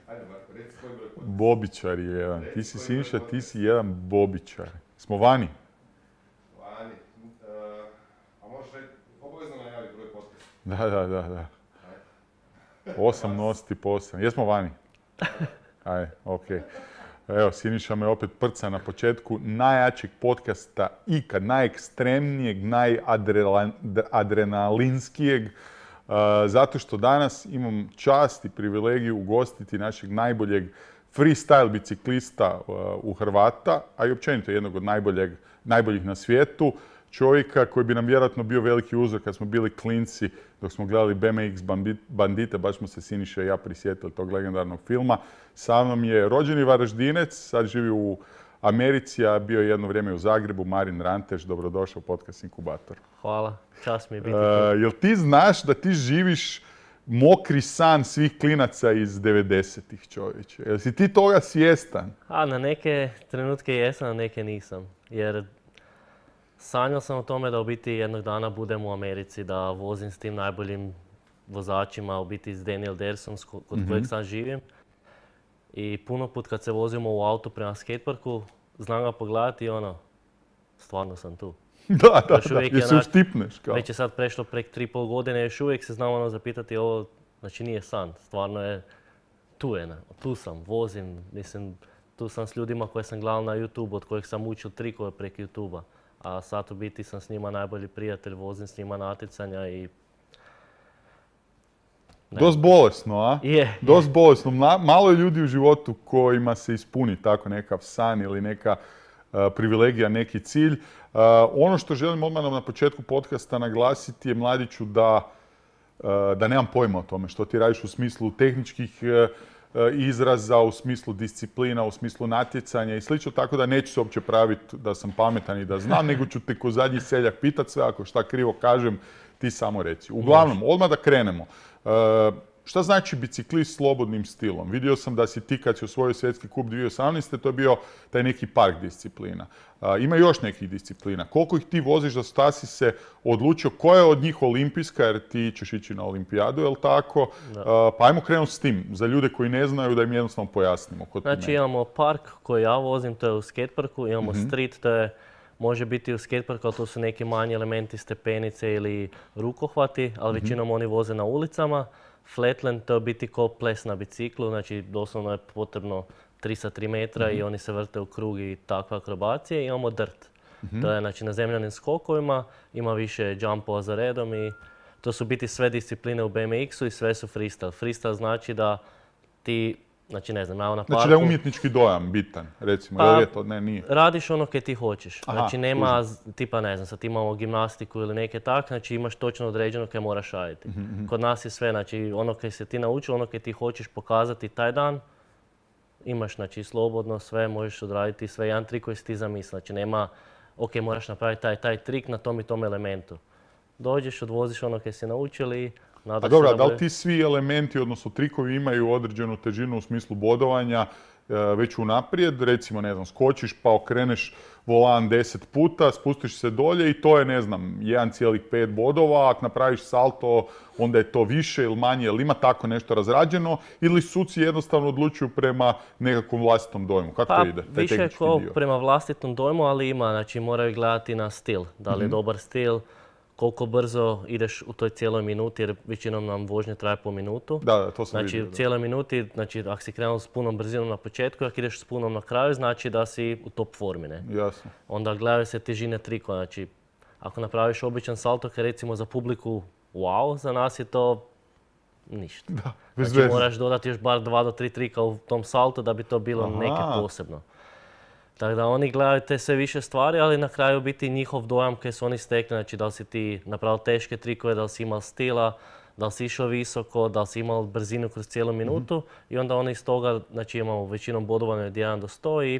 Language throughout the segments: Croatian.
Ajde, Marko, reci koji broj podcast. Bobičar je jedan. Ti si Siniša, ti si jedan bobičar. Smo vani? Vani. A možeš reći, obavezno najavi broj podcast. Da. 8 nositi po 8. Jesmo vani? Ajde, okej. Evo, Siniša me opet prca na početku najjačeg podcasta ikad, najekstremnijeg, najadrenalinskijeg, zato što danas imam čast i privilegiju ugostiti našeg najboljeg freestyle biciklista u Hrvata, a i općenito jednog od najboljih na svijetu. Čovjeka koji bi nam vjerojatno bio veliki uzor kad smo bili klinci, dok smo gledali BMX Bandite, baš smo se Siniša i ja prisjetili tog legendarnog filma. Sa mnom je rođeni Varaždinec, sad živi u Americi, a bio je jedno vrijeme u Zagrebu, Marin Ranteš. Dobrodošao u podcast Inkubator. Hvala, čast mi je biti tu. Jel ti znaš da ti živiš mokri san svih klinaca iz 90-ih, čovječe? Jel si ti toga svjestan? Na neke trenutke jesam, na neke nisam. Jer sanjao sam o tome da u biti jednog dana budem u Americi, da vozim s tim najboljim vozačima, u biti s Daniel Dersom, kod kojeg sad živim. I puno put kad se vozimo u auto prema skateparku, znam ga pogledati i stvarno sam tu. Da, jer se uštipneš. Kao. Već je sad prešlo prek 3,5 godine, još uvijek se znam zapitati ovo, znači nije san, stvarno je, tu sam, vozim, mislim, tu sam s ljudima koje sam gledao na YouTube, od kojih sam učio trikove prek YouTube-a. A sad u biti sam s njima najbolji prijatelj, vozim s njima natjecanja i... Dost bolesno, a? Je. Dost bolesno. Malo je ljudi u životu kojima se ispuni tako nekav san ili neka privilegija, neki cilj. Ono što želim odmah na početku podcasta naglasiti je, mladiću, da nemam pojma o tome što ti radiš u smislu tehničkih izraza, u smislu disciplina, u smislu natjecanja i slično, tako da neću se uopće praviti da sam pametan i da znam, nego ću te ko zadnji seljak pitat sve, ako šta krivo kažem, ti samo reci. Uglavnom, odmah da krenemo. Šta znači biciklist slobodnim stilom? Vidio sam da si ti kad si osvojio svjetski kup 2018. to je bio taj neki park disciplina. Ima još nekih disciplina. Koliko ih ti voziš, da si se odlučio koja je od njih olimpijska, jer ti ćeš ići na olimpijadu, je li tako? Pa ajmo krenuti s tim, za ljude koji ne znaju, da im jednostavno pojasnimo. Znači imamo park koji ja vozim, to je u skateparku, imamo street, to je može biti u skateparku, ali to su neki manji elementi, stepenice ili rukohvati, ali većinom oni voze na ulicama. Flatland, to je biti ko ples na biciklu, znači doslovno je potrebno 3 sa 3 metra i oni se vrte u krug i takve akrobacije. Imamo dirt, to je znači na zemljanim skokovima, ima više jumpova za redom i to su biti sve discipline u BMX-u i sve su freestyle. Freestyle znači da ti, znači ne znam, ja na parku... Znači da je umjetnički dojam bitan, recimo, pa, je to? Ne, nije. Radiš ono kaj ti hoćeš. Aha, znači nema, tipa ne znam, sad imamo gimnastiku ili neke tak, znači imaš točno određeno kaj moraš raditi. Kod nas je sve, znači ono kaj se ti naučio, ono kaj ti hoćeš pokazati taj dan, imaš znači slobodno sve, možeš odraditi sve, jedan trik koji si ti zamislio. Znači nema, ok, moraš napraviti taj trik na tom i tom elementu. Dođeš, odvoziš ono kaj si naučili. A dobro, da li ti svi elementi, odnosno trikovi, imaju određenu težinu u smislu bodovanja već unaprijed? Recimo, ne znam, skočiš pa okreneš volan 10 puta, spustiš se dolje i to je, ne znam, 1,5 bodova. Ako napraviš salto, onda je to više ili manje. Ili ima tako nešto razrađeno? Ili suci jednostavno odlučuju prema nekakvom vlastitom dojmu? Kako to ide? Više je kao prema vlastitom dojmu, ali ima, znači moraju gledati na stil. Da li je dobar stil, koliko brzo ideš u toj cijeloj minuti, jer većinom nam vožnje traje po minutu. Da, to sam vidio. Znači, u cijeloj minuti, znači ako si krenuo s punom brzinom na početku, ako ideš s punom na kraju, znači da si u top formi, ne? Jasno. Onda gledaju se težine trikova, znači ako napraviš običan salto, kaj recimo za publiku wow, za nas je to ništa. Da, znači moraš dodati još bar 2 do 3 trika u tom saltu da bi to bilo neke posebno. Tako da oni gledaju te sve više stvari, ali na kraju biti njihov dojam kaj su oni stekli, znači da li si ti napravio teške trikove, da li si imao stila, da li si išao visoko, da li si imao brzinu kroz cijelu minutu i onda oni iz toga, znači imamo većinom bodovanje od 1 do 100 i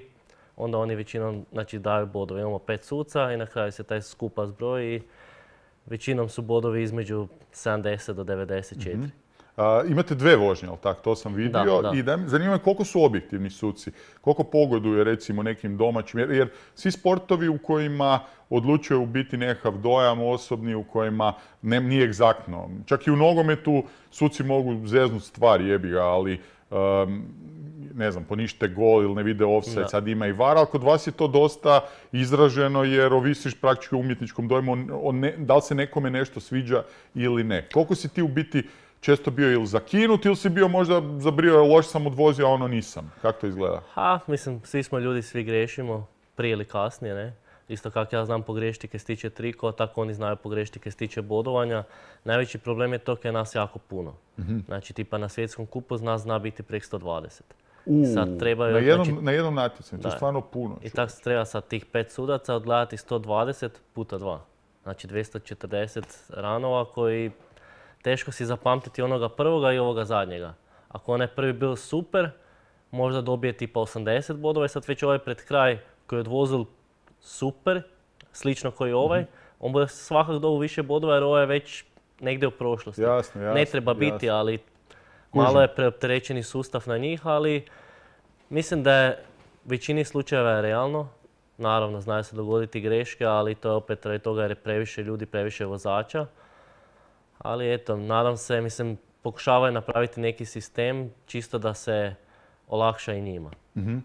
onda oni većinom znači, daju bodove. Imamo 5 suca i na kraju se taj skupa zbroji i većinom su bodovi između 70 do 94. Imate dve vožnje, ali tako, to sam vidio. Da. I zanima me koliko su objektivni suci, koliko pogoduje recimo nekim domaćim, jer svi sportovi u kojima odlučuje u biti nekakav dojam osobni, u kojima nije egzaktno. Čak i u nogometu suci mogu zeznut stvari, jebi ga, ali ne znam, ponište gol ili ne vide offside, sad ima i VAR, ali kod vas je to dosta izraženo jer ovisiš praktički o umjetničkom dojmu, da li se nekome nešto sviđa ili ne. Koliko si ti u biti često bio ili zakinut ili si bio možda zabrio, loš sam odvozio, a ono nisam? Kako to izgleda? Mislim, svi smo ljudi, svi grešimo, prije ili kasnije, ne? Isto kako ja znam pogrešiti kad se tiče trikova, tako oni znaju pogrešiti kad se tiče bodovanja. Najveći problem je to kad je nas jako puno. Znači, tipa na svjetskom kupu zna biti prek 120. Sad trebaju, na jednom natjecanju, to je stvarno puno. I tako se treba sad tih 5 sudaca odgledati 120 puta 2. Znači 240 ranova koji teško si zapamtiti onoga prvoga i ovoga zadnjega. Ako onaj prvi bio super, možda dobije tipa 80 bodova i sad već ovaj pred kraj koji je odvozil super, slično koji ovaj, on bude svakako dobio više bodova jer ovaj je već negdje u prošlosti. Jasno, ne treba biti, ali malo je preopterećeni sustav na njih, ali mislim da je većini slučajeva je realno. Naravno, znaju se dogoditi greške, ali to je opet radi toga jer je previše ljudi, previše vozača. Ali eto, nadam se, mislim, pokušavaju napraviti neki sistem čisto da se olakša i njima.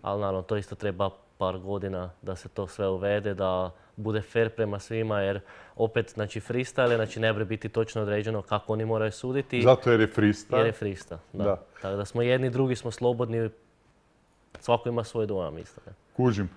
Ali naravno, to isto treba par godina da se to sve uvede, da bude fair prema svima, jer opet, znači, freestyle, znači ne bi biti točno određeno kako oni moraju suditi. Zato jer je freestyle. Jer je freestyle, da. Tako da smo jedni, drugi smo slobodni, svako ima svoj dojam isto. Ne? Kužim.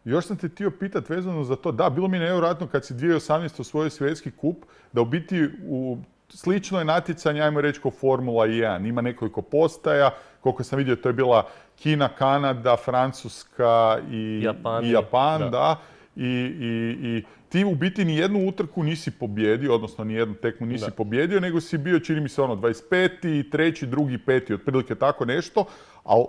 Još sam te htio pitati vezano za to, da, bilo mi nevjerojatno kad si 2018. osvojio svjetski kup, da u biti u slično natjecanje, ajmo reći, kao Formula 1. Ima nekoliko postaja, koliko sam vidio, to je bila Kina, Kanada, Francuska i Japan, da. I ti u biti ni jednu utrku nisi pobjedio, odnosno ni jednu tekmu nisi pobjedio, nego si bio, čini mi se, 25., 3., 2., 5., otprilike tako nešto, ali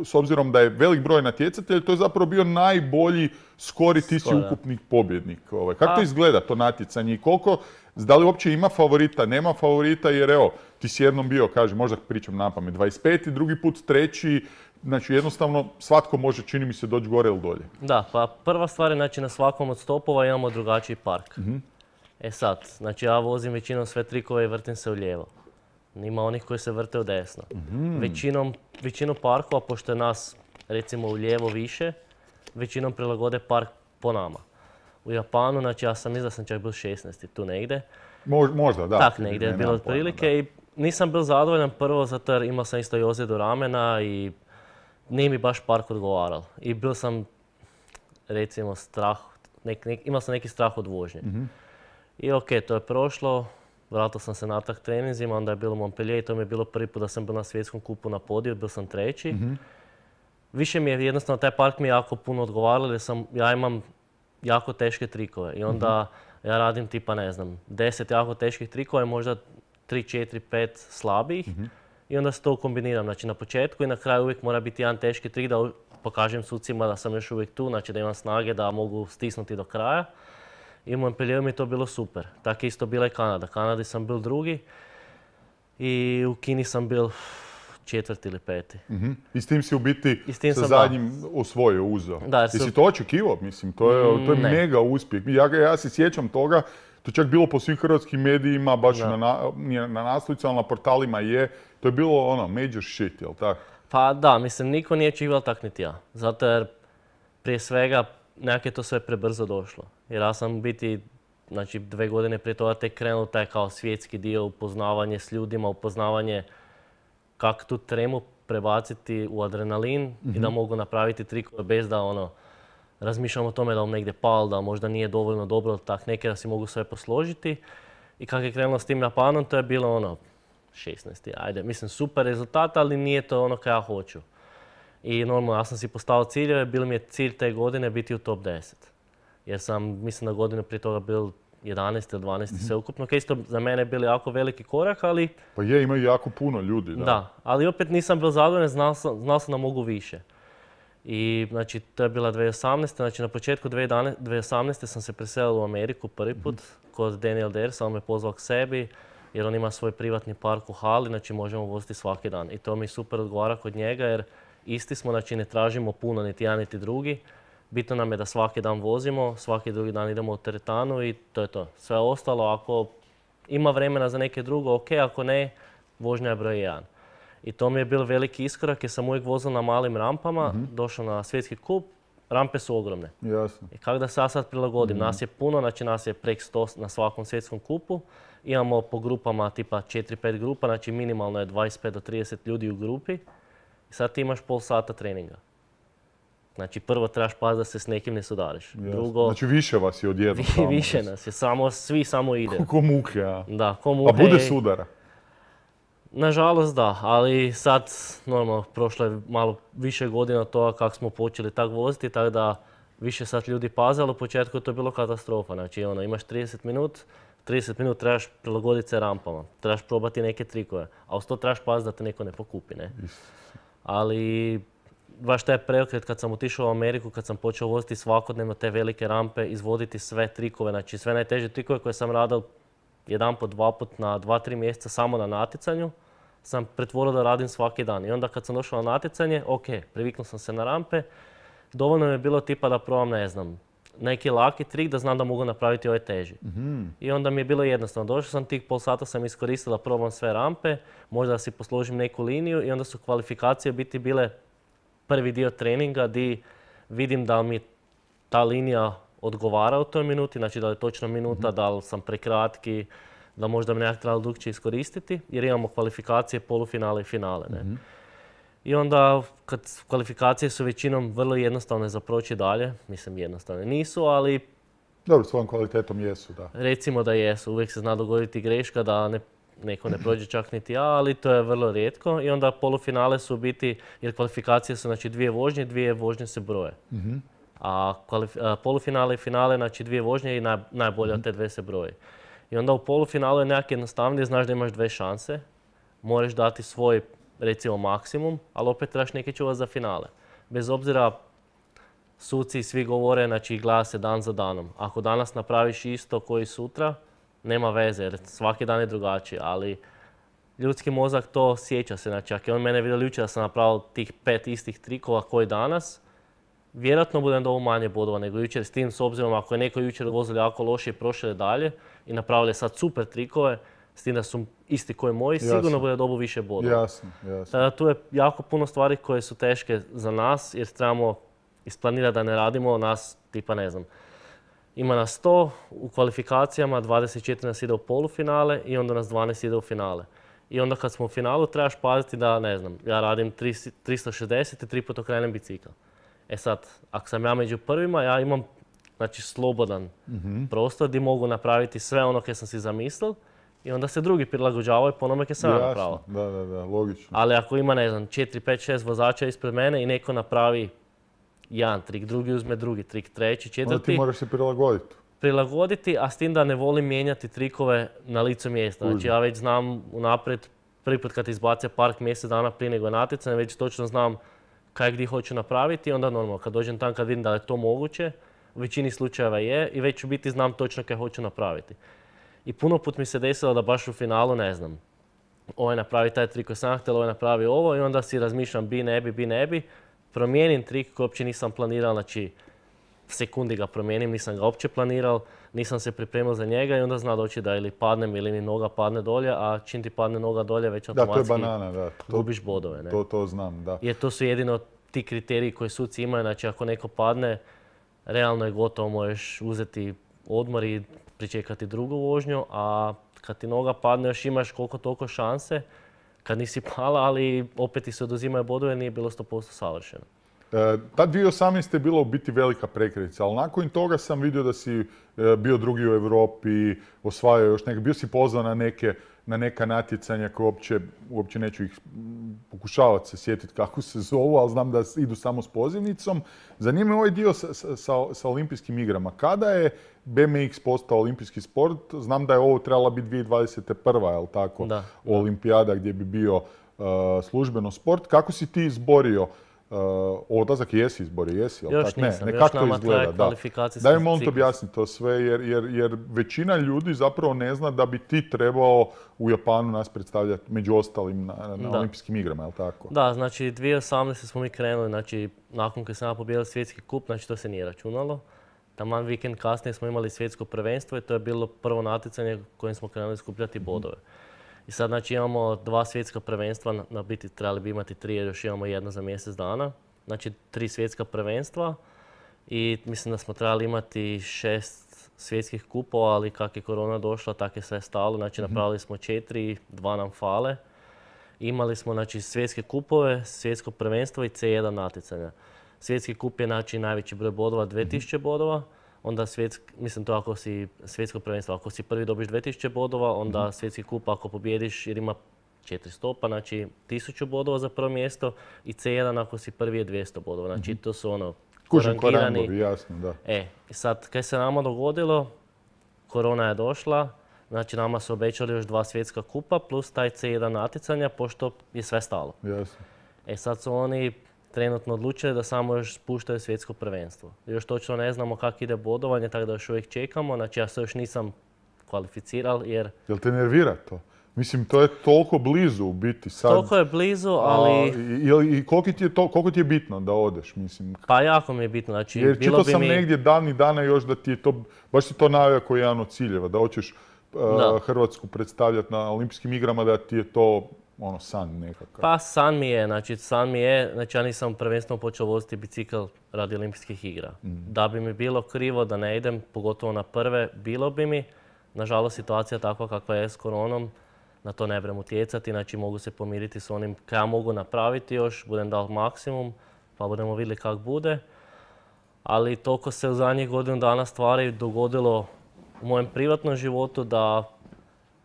s obzirom da je velik broj natjecatelja, to je zapravo bio najbolji skor i ti si ukupni pobjednik. Kako to izgleda, to natjecanje i koliko, da li uopće ima favorita, nema favorita, jer evo, ti si jednom bio, kažem, možda pričam napamet, 25., drugi put 3., znači jednostavno svatko može, čini mi se, doći gore ili dolje. Da, pa prva stvar je, znači na svakom od stopova imamo drugačiji park. E sad, znači ja vozim većinom sve trikove i vrtim se u lijevo. Ima onih koji se vrte u desno. Većinom parkova, pošto je nas recimo u lijevo više, većinom prilagode park po nama. U Japanu, znači ja sam mislim da sam čak bio 16. tu negdje. Možda, da. Tak negdje je bilo otprilike i nisam bio zadovoljan prvo zato jer imao sam isto i ozljedu ramena i nije mi baš park odgovarao. I bio sam recimo strah, imao sam neki strah od vožnje. I okej, to je prošlo. Vratio sam se natrag treninzima, onda je bilo Montpellier i to mi je bilo prvi put da sam bio na svjetskom kupu na podiju, bio sam 3. Više mi je jednostavno, taj park mi je jako puno odgovarao jer ja imam jako teške trikove i onda ja radim tipa, ne znam, 10 jako teških trikova i možda 3, 4, 5 slabijih i onda se to kombiniram. Znači na početku i na kraju uvijek mora biti jedan teški trik da pokažem sucima da sam još uvijek tu, znači da imam snage da mogu stisnuti do kraja. I u Montpellieru mi je to bilo super. Tako isto bila i Kanada. Kanadi sam bil 2. I u Kini sam bil 4. ili 5. I s tim si u biti sa zadnjim osvojio, uzeo. Jesi to očekivao? Mislim, to je mega uspjeh. Ja se sjećam toga, to je čak bilo po svim hrvatskim medijima, baš na naslovicama, na portalima je. To je bilo ono, major shit, jel tako? Pa da, mislim, niko nije očekivao tak niti ja. Zato jer prije svega nekako je to sve prebrzo došlo. Jer ja sam biti, znači 2 godine prije toga tek krenuo taj kao svjetski dio, upoznavanje s ljudima, upoznavanje kako tu tremu prebaciti u adrenalin i da mogu napraviti trikove bez da razmišljam o tome da negdje pal, da možda nije dovoljno dobro, tak neke da si mogu sve posložiti. I kako je krenulo s tim Japanom, to je bilo 16. Ajde, mislim super rezultat, ali nije to ono kaj ja hoću. I normalno, ja sam si postavio ciljeve, bilo mi je cilj te godine biti u top 10. Jer sam, mislim, na godinu prije toga bil 11 ili 12 sveukupno. Kaj isto za mene je bili jako veliki korak, ali... Pa je, imaju jako puno ljudi, da. Da, ali opet nisam bil zadovoljan, znao sam da mogu više. I, znači, to je bila 2018. Znači, na početku 2018. sam se preselio u Ameriku prvi put kod Daniel Dersa, on me pozvao k sebi. jer on ima svoj privatni park u hali, znači možemo voziti svaki dan. I to mi super odgovara kod njega jer isti smo, znači ne tražimo puno niti jedan niti drugi. Bitno nam je da svaki dan vozimo, svaki drugi dan idemo u teretanu i to je to. Sve ostalo, ako ima vremena za neke drugo, ok, ako ne, vožnja je broj 1. I to mi je bio veliki iskorak jer sam uvijek vozio na malim rampama, došao na svjetski kup, rampe su ogromne. Jasno. I kako da se ja sad prilagodim? Nas je puno, znači nas je prek 100 na svakom svjetskom kupu. Imamo po grupama tipa 4-5 grupa, znači minimalno je 25 do 30 ljudi u grupi. I sad ti imaš pol sata treninga. Znači prvo trebaš paziti da se s nekim ne sudariš. Drugo, znači više vas je odjedno. više nas je, svi samo ide. Ko muhe, a? Da, ko muhe. A bude sudara? Nažalost da, ali sad normalno prošlo je malo više godina od toga kako smo počeli tak voziti, tako da više sad ljudi paze, ali u početku je to bilo katastrofa. Znači imaš 30 minut trebaš prilagoditi se rampama, trebaš probati neke trikove, a uz to trebaš paziti da te neko ne pokupi, ne? Ali baš taj preokret kad sam otišao u Ameriku, kad sam počeo voziti svakodnevno te velike rampe, izvoditi sve trikove, znači sve najteže trikove koje sam radio jedanput, dvaput na 2-3 mjeseca samo na natjecanju, sam pretvorio da radim svaki dan. I onda kad sam došao na natjecanje, ok, priviknuo sam se na rampe, dovoljno mi je bilo tipa da probam, ne znam, neki laki trik da znam da mogu napraviti ovaj teži. I onda mi je bilo jednostavno. Došao sam tih pol sata, sam iskoristio da probam sve rampe, možda da si posložim neku liniju i onda su kvalifikacije biti bile prvi dio treninga di vidim da mi ta linija odgovara u toj minuti, znači da je točno minuta, da li sam prekratki, da možda bi nekak trebalo drukčije iskoristiti, jer imamo kvalifikacije, polufinale i finale. Ne? I onda, kad kvalifikacije su većinom vrlo jednostavne za proći dalje, mislim jednostavne nisu, ali... Dobro, svojom kvalitetom jesu, da. Recimo da jesu, uvijek se zna dogoditi greška da neko ne prođe čak niti ja, ali to je vrlo rijetko. I onda polufinale su u biti, jer kvalifikacije su znači 2 vožnje se broje. A polufinale i finale, znači 2 vožnje i najbolje od te 2 se broje. I onda u polufinalu je nekak jednostavnije, znaš da imaš 2 šanse, moraš dati svoj, recimo, maksimum, ali opet trebaš neki čuvati za finale. Bez obzira, suci svi govore, znači gleda se dan za danom. Ako danas napraviš isto koji sutra, nema veze, jer svaki dan je drugačiji, ali ljudski mozak to sjeća se. Znači, ako je on mene vidio jučer da sam napravio tih 5 istih trikova koji danas, vjerojatno budem dobio manje bodova nego jučer, s tim s obzirom ako je neko jučer vozio jako loše i prošao dalje i napravili sad super trikove, s tim da su isti koji moji, sigurno bude dobio više bodova. Jasno. Tada tu je jako puno stvari koje su teške za nas jer trebamo isplanirati da ne radimo nas, tipa ne znam, ima nas 100 u kvalifikacijama, 24 nas ide u polufinale i onda nas 12 ide u finale. I onda kad smo u finalu trebaš paziti da, ne znam, ja radim 360 i 3 put okrenem bicikl. E sad, ako sam ja među prvima, ja imam znači, slobodan prostor gdje mogu napraviti sve ono koje sam si zamislil i onda se drugi prilagođavaju po onome koje sam ja napravio. Da, logično. Ali ako ima, ne znam, 4, 5, 6 vozača ispred mene i neko napravi jedan trik, drugi uzme drugi trik, treći, četvrti. Onda ti moraš se prilagoditi, a s tim da ne volim mijenjati trikove na licu mjesta. Znači ja već znam unaprijed, prvi put kad izbace park mjesec dana prije nego natjecanje, već točno znam kaj gdje hoću napraviti i onda normalno kad dođem tam kad vidim da je to moguće, u većini slučajeva je i već u biti znam točno kaj hoću napraviti. I puno put mi se desilo da baš u finalu, ne znam, ovaj napravi taj trik koji sam htjel, ovaj napravi ovo i onda si razmišljam bi, ne bi, promijenim trik koji uopće nisam planirao, znači sekundi ga promijenim, nisam ga uopće planirao, nisam se pripremio za njega i onda zna doći da ili padnem ili mi noga padne dolje, a čim ti padne noga dolje već automatski gubiš bodove. Ne? To znam, da. Jer to su jedino ti kriteriji koji suci imaju, znači ako neko padne, realno je gotovo, možeš uzeti odmor i pričekati drugu vožnju, a kad ti noga padne još imaš koliko toliko šanse, kad nisi pala, ali opet ti se oduzimaju bodove, nije bilo 100% savršeno. Ta 2018. je bila u biti velika prekretnica, ali nakon toga sam vidio da si bio drugi u Europi, osvajao još neke, bio si pozvan na neka natjecanja koje uopće neću ih pokušavati se sjetiti kako se zovu, ali znam da idu samo s pozivnicom. Zanima me ovaj dio sa olimpijskim igrama. Kada je BMX postao olimpijski sport? Znam da je ovo trebala biti 2021. je li tako? Da. Olimpijada gdje bi bio službeno sport. Kako si ti izborio odlazak, jesi izbor, jesi, ali Još tak? Ne, nisam, još kako to nama traje izgleda, da. kvalifikacijski Daj mi molim te ciklus. objasni to sve, jer većina ljudi zapravo ne zna da bi ti trebao u Japanu nas predstavljati među ostalim na Da. olimpijskim igrama, je li tako? Da, znači 2018. smo mi krenuli, znači nakon kad sam ja pobijedila svjetski kup, znači to se nije računalo. Taman vikend kasnije smo imali svjetsko prvenstvo i to je bilo prvo natjecanje kojim smo krenuli skupljati bodove. I sad znači imamo 2 svjetska prvenstva, na biti trebali bi imati 3 jer još imamo jedno za mjesec dana. Znači 3 svjetska prvenstva i mislim da smo trebali imati 6 svjetskih kupova, ali kak je korona došla, tak je sve stalo. Znači napravili smo 4, 2 nam fale. Imali smo znači svjetske kupove, svjetsko prvenstvo i C1 natjecanja. Svjetski kup je znači najveći broj bodova, 2000 bodova. Onda mislim to ako si svjetsko prvenstvo, ako si prvi dobiš 2000 bodova, onda svjetski kup ako pobjediš jer ima 400, pa znači 1000 bodova za prvo mjesto i C1 ako si prvi je 200 bodova. Znači to su ono Kužim korangirani. korangovi, jasno, da. I sad kaj se nama dogodilo, korona je došla, znači nama su obećali još 2 svjetska kupa plus taj C1 natjecanja pošto je sve stalo. Jasno. Sad su oni trenutno odlučili da samo još spuštaju svjetsko prvenstvo. Još točno ne znamo kako ide bodovanje, tako da još uvijek čekamo. Znači ja se još nisam kvalificiral jer... Jel te nervira to? Mislim, to je toliko blizu u biti sad. Toliko je blizu, ali... I koliko ti je bitno da odeš, mislim? Pa jako mi je bitno, znači Jer bilo čitao bi sam mi... negdje davnih dana još da ti je to, baš si to naveo kao jedan od ciljeva, da hoćeš Hrvatsku predstavljati na olimpijskim igrama, da ti je to san nekakav. Pa san mi je, znači ja nisam prvenstveno počeo voziti bicikl radi olimpijskih igra. Da bi mi bilo krivo da ne idem, pogotovo na prve, bilo bi mi. Nažalost, situacija takva kakva je s koronom, na to ne brem utjecati, znači mogu se pomiriti s onim kaj ja mogu napraviti još, budem dao maksimum, pa budemo vidjeli kak bude. Ali toliko se u zadnjih godinu dana stvari dogodilo u mojem privatnom životu da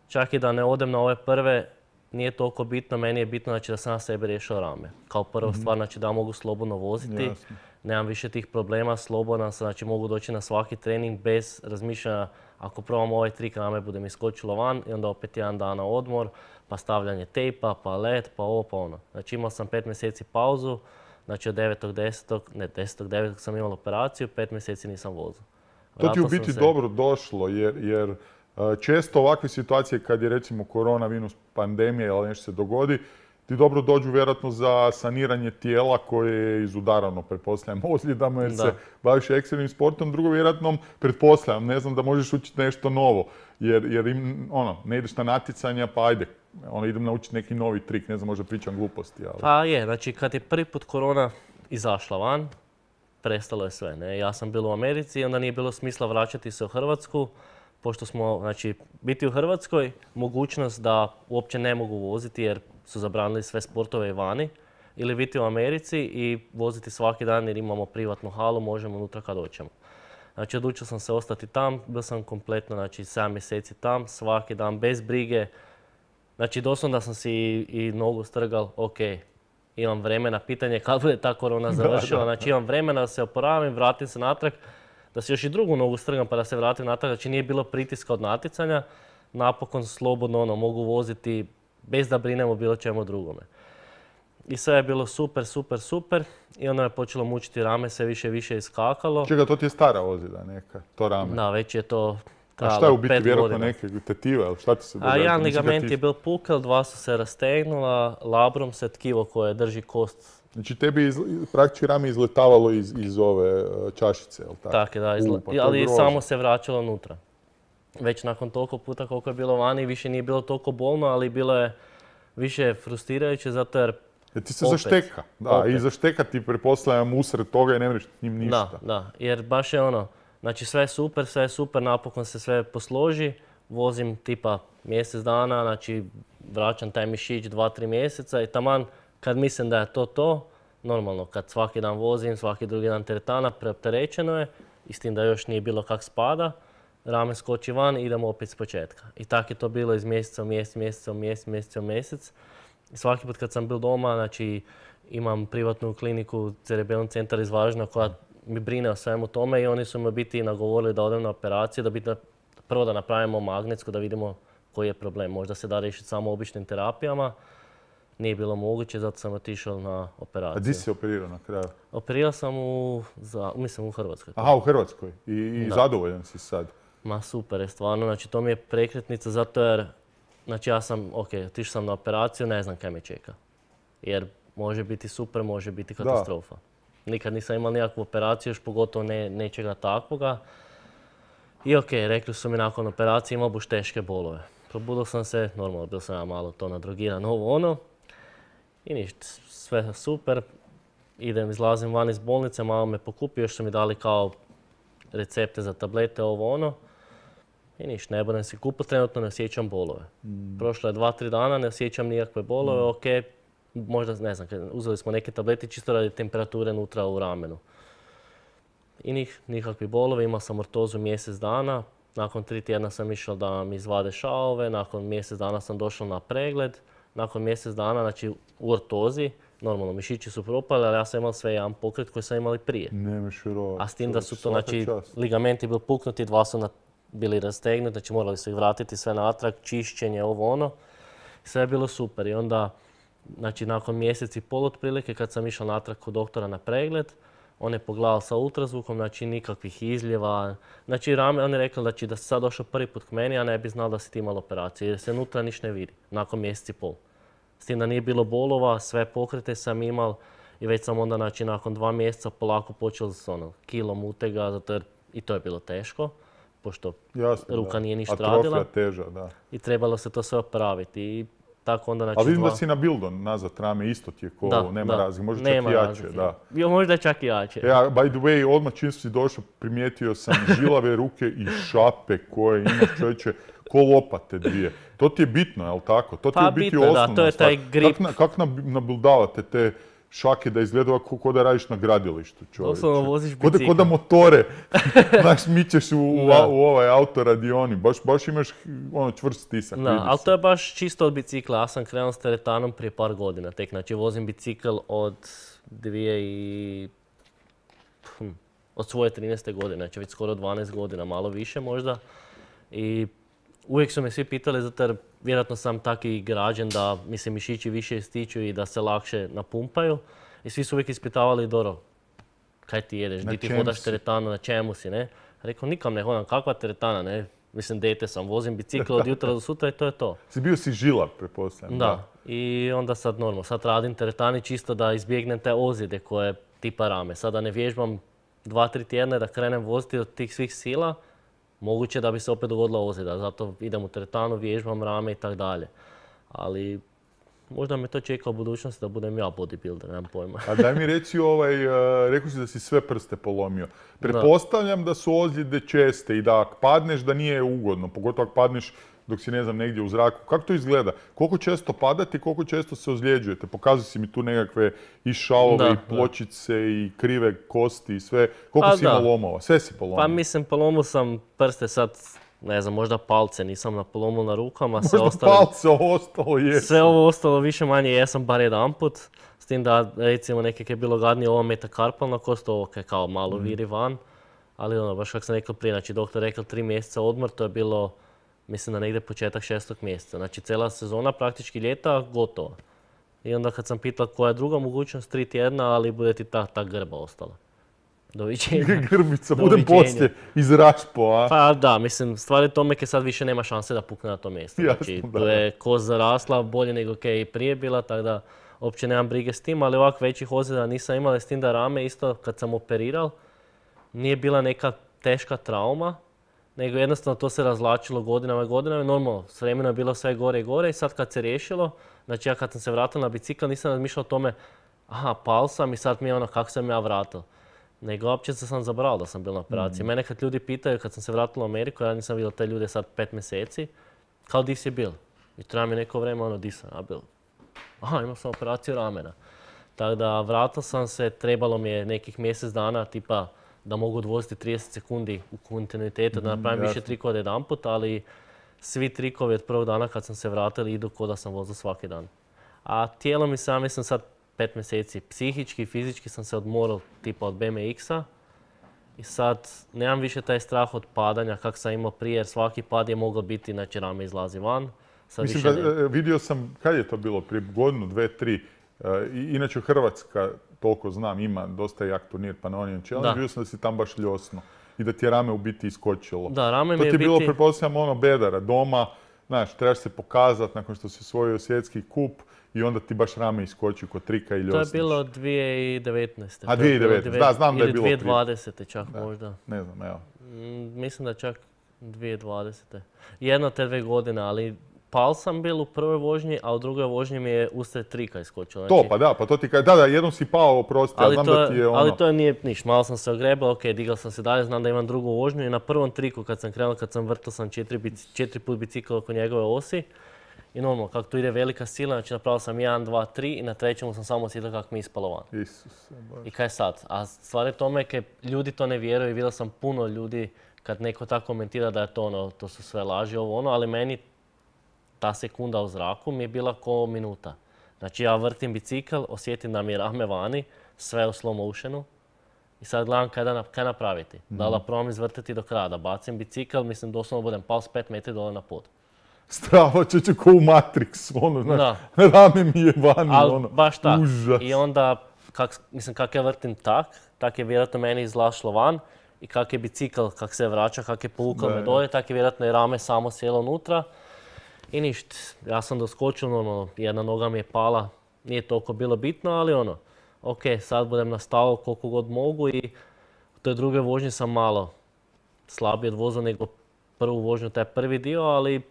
čak i da ne odem na ove prve, nije toliko bitno, meni je bitno znači, da sam na sebe riješio rame. Kao prva stvar, znači da mogu slobodno voziti, Jasno. nemam više tih problema, slobodan sam, znači mogu doći na svaki trening bez razmišljanja ako probam ovaj trik, rame bude mi skočilo van i onda opet jedan dan na odmor, pa stavljanje tejpa, pa let, pa ovo, pa ono. Znači imao sam 5 mjeseci pauzu, znači od 10.9. sam imao operaciju, 5 mjeseci nisam vozio. To ti u biti dobro došlo, jer često ovakve situacije kad je recimo koronavirus, pandemija ili nešto se dogodi, ti dobro dođu vjerojatno za saniranje tijela koje je izudarano, pretpostavljam, ozljedama jer se baviš ekstremnim sportom. Drugo, vjerojatno, pretpostavljam, ne znam da možeš učiti nešto novo, jer ne ideš na natjecanja, pa ajde, idem naučiti neki novi trik, ne znam, možda pričam gluposti. Ali... Pa je, znači kad je prvi put korona izašla van, prestalo je sve. Ne? Ja sam bio u Americi i onda nije bilo smisla vraćati se u Hrvatsku, pošto smo, znači, biti u Hrvatskoj, mogućnost da uopće ne mogu voziti jer su zabranili sve sportove vani, ili biti u Americi i voziti svaki dan jer imamo privatnu halu, možemo unutra kad hoćemo. Znači, odlučio sam se ostati tam, bio sam kompletno, znači, 7 mjeseci tam, svaki dan, bez brige. Znači, doslovno da sam si i nogu strgal, ok, imam vremena, pitanje kad bude ta korona završila, znači imam vremena da se oporavim, vratim se natrag, da se još i drugu nogu strgam pa da se vratim natrag, znači nije bilo pritiska od natjecanja, napokon slobodno mogu voziti bez da brinem o bilo čemu drugome. I sve je bilo super i onda me počelo mučiti rame, sve više i više iskakalo. Čega, to ti je stara ozljeda neka, to rame? Da, već je to trajalo 5 godina. A šta je u biti, vjerojatno godina. neke tetive, ili šta ti se događa? Jedan ligament je bil pukel, 2 su se rastegnula, labrum se tkivo koje drži kost. Znači tebi praktički rame izletavalo iz ove čašice, jel tako? Tako je, da, ali samo se vraćalo unutra. Već nakon toliko puta koliko je bilo vani, više nije bilo toliko bolno, ali bilo je više frustrirajuće zato jer jer ti se zašteka, da, i zašteka ti pretpostavljam usred toga i ne mreš s njim ništa. Da, jer baš je znači sve je super, napokon se sve posloži, vozim tipa mjesec dana, znači vraćam taj mišić 2-3 mjeseca i taman kad mislim da je to, normalno kad svaki dan vozim, svaki drugi dan teretana, preopterećeno je i s tim da još nije bilo kak spada, rame skoči van i idemo opet s početka. I tako je to bilo iz mjeseca u mjesec. I svaki put kad sam bil doma, znači imam privatnu kliniku, cerebelni centar iz Varaždina koja mi brine o svemu tome i oni su me biti nagovorili da odem na operaciju, prvo da napravimo magnetsku, da vidimo koji je problem. Možda se da riješiti samo običnim terapijama. nije bilo moguće, zato sam otišao na A operaciju. di si operirao na kraju? Operirao sam mislim u Hrvatskoj. Aha, u Hrvatskoj. I zadovoljan si sad? Ma super je stvarno, znači to mi je prekretnica zato jer, znači ja sam, otišao sam na operaciju, ne znam kaj me čeka. Jer može biti super, može biti katastrofa. Nikad nisam imao nikakvu operaciju, još pogotovo nečega takvoga. I rekli su mi nakon operacije imao buš teške bolove. Probudio sam se, normalno bio sam ja malo to nadrogiran, ovo ono. I ništa, sve super. Izlazim van iz bolnice, malo me pokupi, još su mi dali kao recepte za tablete, ovo ono. I ništa, ne budem si kupio, trenutno ne osjećam bolove. Prošlo je 2-3 dana, ne osjećam nikakve bolove, možda, ne znam, uzeli smo neke tablete čisto radi temperature unutra u ramenu. I nikakvi bolove, imao sam ortozu mjesec dana. Nakon 3 tjedna sam išao da mi izvade šavove, nakon mjesec dana sam došao na pregled. Nakon mjesec dana, znači u ortozi, normalno mišići su propali, ali ja sam imao sve jedan pokret koji sam imao i prije. Nemaš vjerovati. A s tim da su to, znači, ligamenti bili puknuti, 2 su bili rastegnuti, znači morali su ih vratiti sve natrag, čišćenje, ovo ono. Sve je bilo super i onda, znači nakon mjesec i pol otprilike, kad sam išao natrag kod doktora na pregled, on je pogledao sa ultrazvukom, znači nikakvih izljeva. Znači on je rekao da si sad došao prvi put k meni, a ne bi znao da si ti imao operaciju jer se unutra ništa ne vidi, nakon mjesec i pol. S tim da nije bilo bolova, sve pokrete sam imao i već sam onda, znači nakon 2 mjeseca polako počeo s kilom utega, zato jer i to je bilo teško, pošto ruka nije ništa radila. Atrofija teža, da. I trebalo se to sve opraviti. I tako onda, znači, a vidim da si na Bildon nazad rame, isto ti je ko ovo, nema razlike, možda čak i jače. Da. Jo, možda čak i jače. Ja, by the way, odmah čim si došao, primijetio sam žilave ruke i šape koje imaš, čovječe, ko lopate dvije. To ti je bitno, jel tako? To ti je biti osnovna da, to je taj grip. Kako nabildavate te šake da izgleda ovako ko da radiš na gradilištu, čovječe? Doslovno voziš bicikl. Ko da motore, znaš, mičeš u ovaj autoradioni. Baš imaš čvrst stisak. Da, ali to je baš čisto od bicikla. Ja sam krenuo s teretanom prije par godina tek. Znači vozim bicikl od svoje 13. godine, znači već skoro 12 godina, malo više možda. I uvijek su me svi pitali, zato jer vjerojatno sam taki građen da mi se mišići više ističu i da se lakše napumpaju. I svi su uvijek ispitavali, Doro, kaj ti jedeš, di ti hodaš teretanu, na čemu si, ne? Rekao, nikam ne hodam, kakva teretana, ne? Mislim, dete sam, vozim bicikl od jutra do sutra i to je to. Bio si žilav, pretpostavljam. Da. I onda sad sad radim teretani čisto da izbjegnem te ozljede koje tipa rame. Sada ne vježbam 2-3 tjedna da krenem voziti od tih svih sila, moguće da bi se opet dogodila ozljeda. Zato idem u teretanu, vježbam rame i tako dalje. Ali možda me to čeka u budućnosti da budem ja bodybuilder, nemam pojma. A daj mi reci, rekao si da si sve prste polomio. Pretpostavljam da su ozljede česte i da ako padneš da nije ugodno, pogotovo ako padneš dok si, ne znam, negdje u zraku. Kako to izgleda? Koliko često padate i koliko često se ozljeđujete? Pokazuj si mi tu nekakve i šalove, i pločice, i krive kosti i sve. Koliko si imao lomova? Sve si polomio? Pa mislim, polomio sam prste sad, ne znam, možda palce nisam polomio na rukama. Možda palce, ostalo jesam. Sve ovo ostalo više manje jesam bar jedan put. S tim da, recimo, nekak je bilo gadnije ovo metakarpalna kost, ovo kao malo viri van. Ali baš kako sam rekao prije, znači doktor rekao 3 mjeseca odmor, to je bilo, mislim da negdje početak 6. mjeseca. Znači cijela sezona, praktički ljeta, gotova. I onda kad sam pitao koja je druga mogućnost, 3 tjedna, ali bude ti ta grba ostala. Doviđenja. Grbica, budem poslije iz rašpo, a? Pa da, mislim, stvari tome je sad više nema šanse da pukne na to mjesto. Znači, tu je kost zarasla bolje nego kaj je i prije bila, tako da uopće nemam brige s tim, ali ovak većih ozljeda nisam imala, s tim da rame isto kad sam operiral, nije bila neka teška trauma, nego jednostavno to se razvlačilo godinama i godinama. Normalno, s vremenom je bilo sve gore i gore i sad kad se riješilo, znači ja kad sam se vratio na bicikl nisam razmišljao o tome, aha, pao sam i sad mi je kako sam ja vratio. Nego uopće sam zaboravio da sam bio na operaciji. Mene kad ljudi pitaju, kad sam se vratio u Ameriku, ja nisam vidio te ljude sad 5 mjeseci, kao di si bil? I treba mi neko vreme, di sam ja bil. Aha, imao sam operaciju ramena. Tako da vratio sam se, trebalo mi je nekih mjesec dana, tipa da mogu odvoziti 30 sekundi u kontinuitetu, da napravim više trikova od jedan put, ali svi trikovi od prvog dana kad sam se vratio idu ko da sam vozio svaki dan. A tijelo mi sam, mislim sad 5 mjeseci, psihički i fizički sam se odmorao tipa od BMX-a i sad nemam više taj strah od padanja kak sam imao prije jer svaki pad je mogao biti, znači rame izlazi van. Sad Mislim više da ne. vidio sam, kad je to bilo, prije godinu, 2, 3. Inače Hrvatska, toliko znam, ima dosta jak turnir Pannonian Challenge, Da. vidio sam da si tam baš ljosno i da ti je rame u biti iskočilo. Da, rame To mi ti je je bilo, biti... pretpostavljam, ono bedara doma, znaš, trebaš se pokazati nakon što si osvojio svjetski kup i onda ti baš rame iskoči kod trika i To ljosniš. je bilo 2019. A, To je bilo 2019, da, znam da je bilo Ili prije. 2020. čak Da. možda. Ne znam, evo. Mislim da čak 2020. Jedno te 2 godine, ali pal sam bil u prvoj vožnji, a u drugoj vožnji mi je usred trika iskočilo. To, pa da, pa to ti kaže, da, jednom si pao, oprosti, ja Ali znam to, da ti je ono... ali to nije niš, malo sam se ogrebao, ok, digao sam se dalje, znam da imam drugu vožnju i na prvom triku kad sam krenuo, kad sam vrtao sam 4 put bicikl oko njegove osi i normalno, kako tu ide velika sila, znači napravio sam 1, 2, 3 i na trećemu sam samo osjetio kako mi je ispalo van. Isuse, Bože. I kaj sad? A stvar je tome kaj ljudi to ne vjeruju i vidio sam puno ljudi kad neko tako komentira da je to ono, to su sve laži, ovo ono, ali meni ta sekunda u zraku mi je bila ko minuta. Znači ja vrtim bicikl, osjetim da mi je rame vani, sve u slow motionu i sad gledam kaj napraviti. Da li probam izvrtiti do kraja, da bacim bicikl, mislim doslovno budem pao s 5 metri dole na pod. Strava čeče ko u Matrix, ono, znaš, Da. rame mi je vani, Ali ono, baš tak. užas. I onda, kak ja vrtim tak je vjerojatno meni izlašlo van i kak je bicikl, kak se vraća, kak je povukao Da, me da. dolje, tak je vjerojatno i rame samo sjelo unutra. I ništa, ja sam doskočio, normalno, jedna noga mi je pala, nije toliko bilo bitno, ali ono, ok, sad budem nastavio koliko god mogu i u toj drugoj vožnji sam malo slabije odvozio nego prvu vožnju, taj prvi dio, ali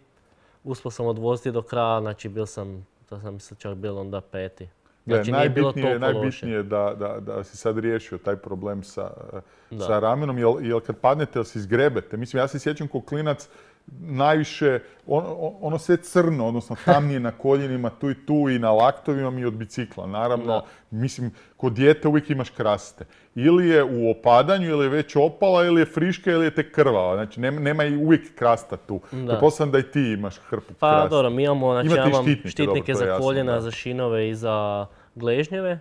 uspio sam odvoziti do kraja, znači to sam mislim čak bio onda 5. Znači nije bilo toliko loše. Najbitnije da si sad riješio taj problem sa Da. ramenom, jel kad padnete, jel se izgrebete? Mislim, ja se sjećam kao klinac, najviše, ono sve crno, odnosno tamnije na koljenima, tu i tu i na laktovima i od bicikla. Naravno, Da. mislim, kod dijete uvijek imaš kraste. Ili je u opadanju, ili je već opala, ili je friška, ili je tek krvava. Znači, nema i uvijek krasta tu. Da. Pretpostavljam da i ti imaš hrpu Pa krasta. dobro, mi imamo, znači Imate ja i imam štitnike, štitnike dobro, to je za jasno, koljena, da. za šinove i za gležnjeve.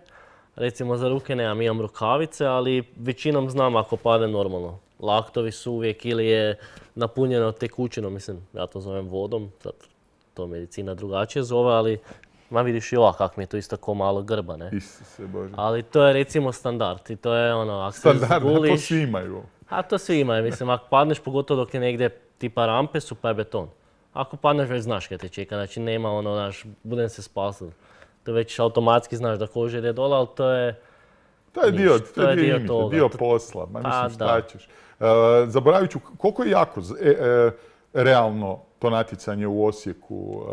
Recimo za ruke nemam, imam rukavice, ali većinom znam ako pade normalno. Laktovi su uvijek ili je napunjeno tekućinom, mislim, ja to zovem vodom, sad to medicina drugačije zove, ali ma vidiš i ovak kak mi je to isto ko malo grba, ne? Isuse Bože. Ali to je recimo standard i to je ono, ako se Standardno, to zguliš, svi imaju. a to svi imaju, mislim, ako padneš, pogotovo dok je negdje tipa rampe su, pa je beton. Ako padneš, već znaš kaj te čeka, znači nema ono, znaš, budem se spasao. To već automatski znaš da koža ide dole, ali to je... To je dio, Ništa, to je dio imidža, toga. dio posla. Ma Pa, mislim, šta da. ćeš. Zaboravit ću, koliko je jako realno to natjecanje u Osijeku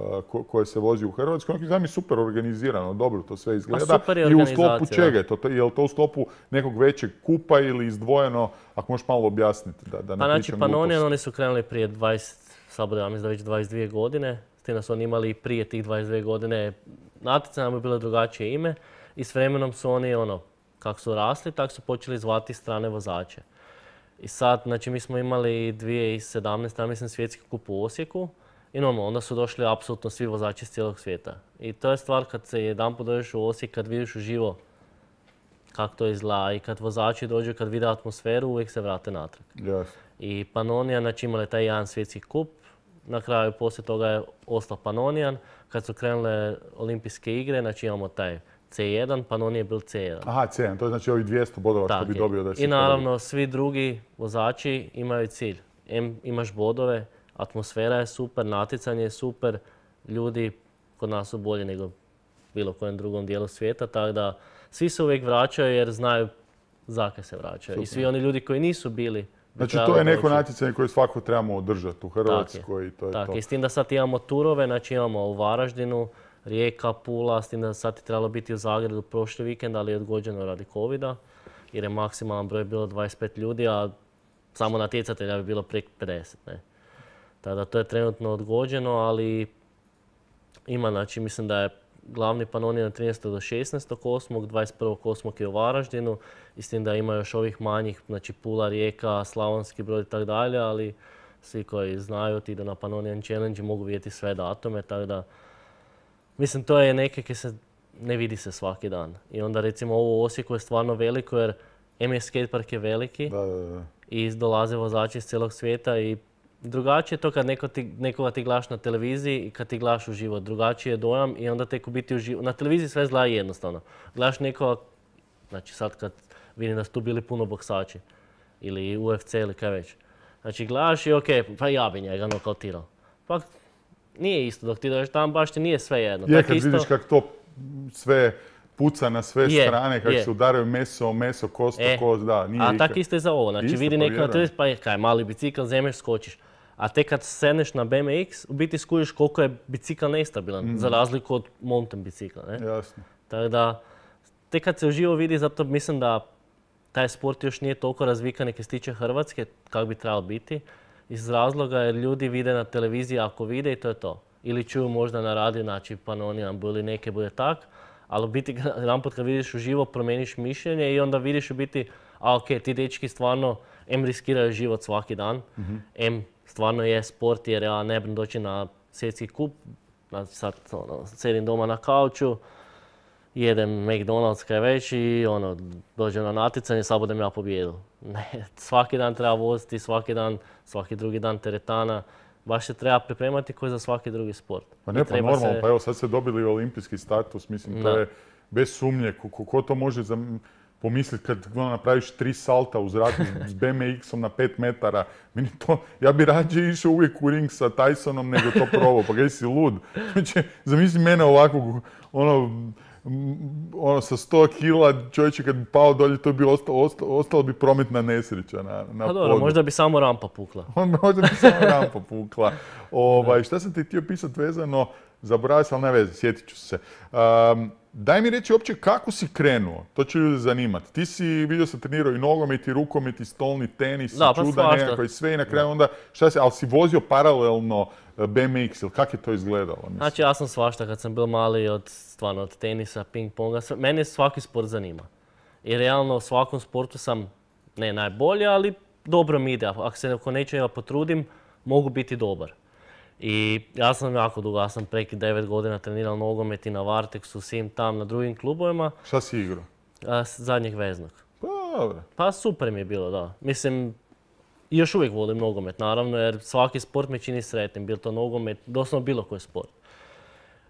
koje se vozi u Hrvatskoj? Onako znam je super organizirano, dobro to sve izgleda. super je I u sklopu organizacija, čega je to? Je li to u sklopu nekog većeg kupa ili izdvojeno? Ako možeš malo objasniti da ne Pa znači pričam Pannonian, gluposti. oni su krenuli prije 20, sad bude, ja mislim da već 22 godine. S tim da su oni imali i prije tih 22 godine natjecanja, bi bilo drugačije ime. I s vremenom su oni, ono, kako su rasli, tako su počeli zvati strane vozače. I sad, znači mi smo imali 2017, ja mislim, svjetski kup u Osijeku. I normalno, onda su došli apsolutno svi vozači iz cijelog svijeta. I to je stvar kad se jedanput dođeš u Osijek, kad vidiš uživo kako to izgleda i kad vozači dođu, kad vide atmosferu, uvijek se vrate natrag. Jasno. I Pannonian, znači imali taj jedan svjetski kup. Na kraju poslije toga je ostao Pannonian. Kad su krenule olimpijske igre, znači imamo taj C1, Pannonian je bil C1. Aha, C1, to je znači ovih 200 bodova što Tak bi je. dobio da si I naravno, svi drugi vozači imaju cilj. Imaš bodove, atmosfera je super, natjecanje je super, ljudi kod nas su bolji nego bilo kojem drugom dijelu svijeta, tako da svi se uvijek vraćaju jer znaju zakaj se vraćaju. Super. I svi oni ljudi koji nisu bili. bi Znači trebali to je neko doći. natjecanje koje svako trebamo održati u Hrvatskoj i to je Tako to. je, s tim da sad imamo turove, znači imamo u Varaždinu, Rijeka, Pula, s tim da sad je trebalo biti u Zagrebu prošli vikend, ali je odgođeno radi covida, jer je maksimalan broj bilo 25 ljudi, a samo natjecatelja bi bilo preko 50. Ne? Tako da to je trenutno odgođeno, ali ima, znači mislim da je glavni Pannonian od 13. do 16.8., 21.8. je u Varaždinu, i s tim da ima još ovih manjih, znači Pula, Rijeka, Slavonski Brod i tako dalje, ali svi koji znaju ti idu na Pannonian Challenge i mogu vidjeti sve datume, tako da mislim to je neke koje se ne vidi se svaki dan. I onda recimo ovo u Osijeku je stvarno veliko jer je skatepark je veliki Da. i dolaze vozači iz cijelog svijeta i drugačije je to kad nekoga ti gledaš na televiziji i kad ti gledaš uživo. Drugačiji je dojam i onda tek u biti uživo. Na televiziji sve izgleda jednostavno. Gledaš nekoga, znači sad kad vidim da su tu bili puno boksači ili UFC ili kaj već. Znači gledaš i okej, pa ja bi njega nokautirao. Pa nije isto dok ti dođeš tamo, baš ti nije sve jedno. Je, kad vidiš kako to sve puca na sve strane, kako se udaraju meso, kost, da, nije a tako isto je za ovo, znači vidi neko na televiziji, pa kaj, mali bicikl, zemeš, skočiš. A tek kad sedneš na BMX, u biti skužiš koliko je bicikl nestabilan, za razliku od mountain bicikla, ne? Jasno. Tako da, tek kad se uživo vidi, zato mislim da taj sport još nije toliko razvikan neke se tiče Hrvatske, kako bi trebalo biti. Iz razloga jer ljudi vide na televiziji ako vide i to je to. Ili čuju možda na radiju, znači Panonion ili neke bude tak. Ali u biti jedanput kad vidiš uživo promeniš mišljenje i onda vidiš u biti, a ok, ti dečki stvarno em riskiraju život svaki dan, em stvarno je sport jer ja ne bih doći na svjetski kup, sad sedim doma na kauču, jedem McDonald's kaj već i dođem na natjecanje, sad budem ja pobijedio. Ne, svaki dan treba voziti, svaki drugi dan teretana. Baš se treba pripremati koji za svaki drugi sport. Pa ne, pa normalno, pa evo sad ste dobili olimpijski status, mislim, to je bez sumnje. Ko to može pomisliti kad napraviš 3 salta u zraku s BMX-om na 5 metara? Meni to, ja bi rađe išao uvijek u ring sa Tysonom nego to probao, pa kaj si lud. Znači, zamisli mene ovakvog, sa 100 kila čovječe kad bi pao dolje, to bi ostalo bi prometna nesreća na podu. Dobro, možda bi samo rampa pukla. Možda bi samo rampa pukla. Šta sam ti htio pisati vezano, zaboravio sam, ali ne veze, sjetit ću se. Daj mi reći uopće kako si krenuo, to će ljude zanimati. Ti si, vidio sam, trenirao i nogomet, i rukomet, i stolni tenis, i čuda nekako i sve i na kraju onda, ali si vozio paralelno BMX ili kako je to izgledalo? Mislim? Znači ja sam svašta kad sam bil mali od tenisa, ping-ponga, mene svaki sport zanima. I realno u svakom sportu sam ne najbolji, ali dobro mi ide. Ako se oko nečega potrudim, mogu biti dobar. I ja sam jako dugo, ja sam preki 9 godina trenirao nogomet i na Varteksu, svim tam, na drugim klubovima. Šta si igrao? Zadnjeg veznog. Pa dobro. Pa super mi je bilo, da. Mislim, još uvijek volim nogomet, naravno, jer svaki sport me čini sretnim. Bilo to nogomet, doslovno bilo koji sport.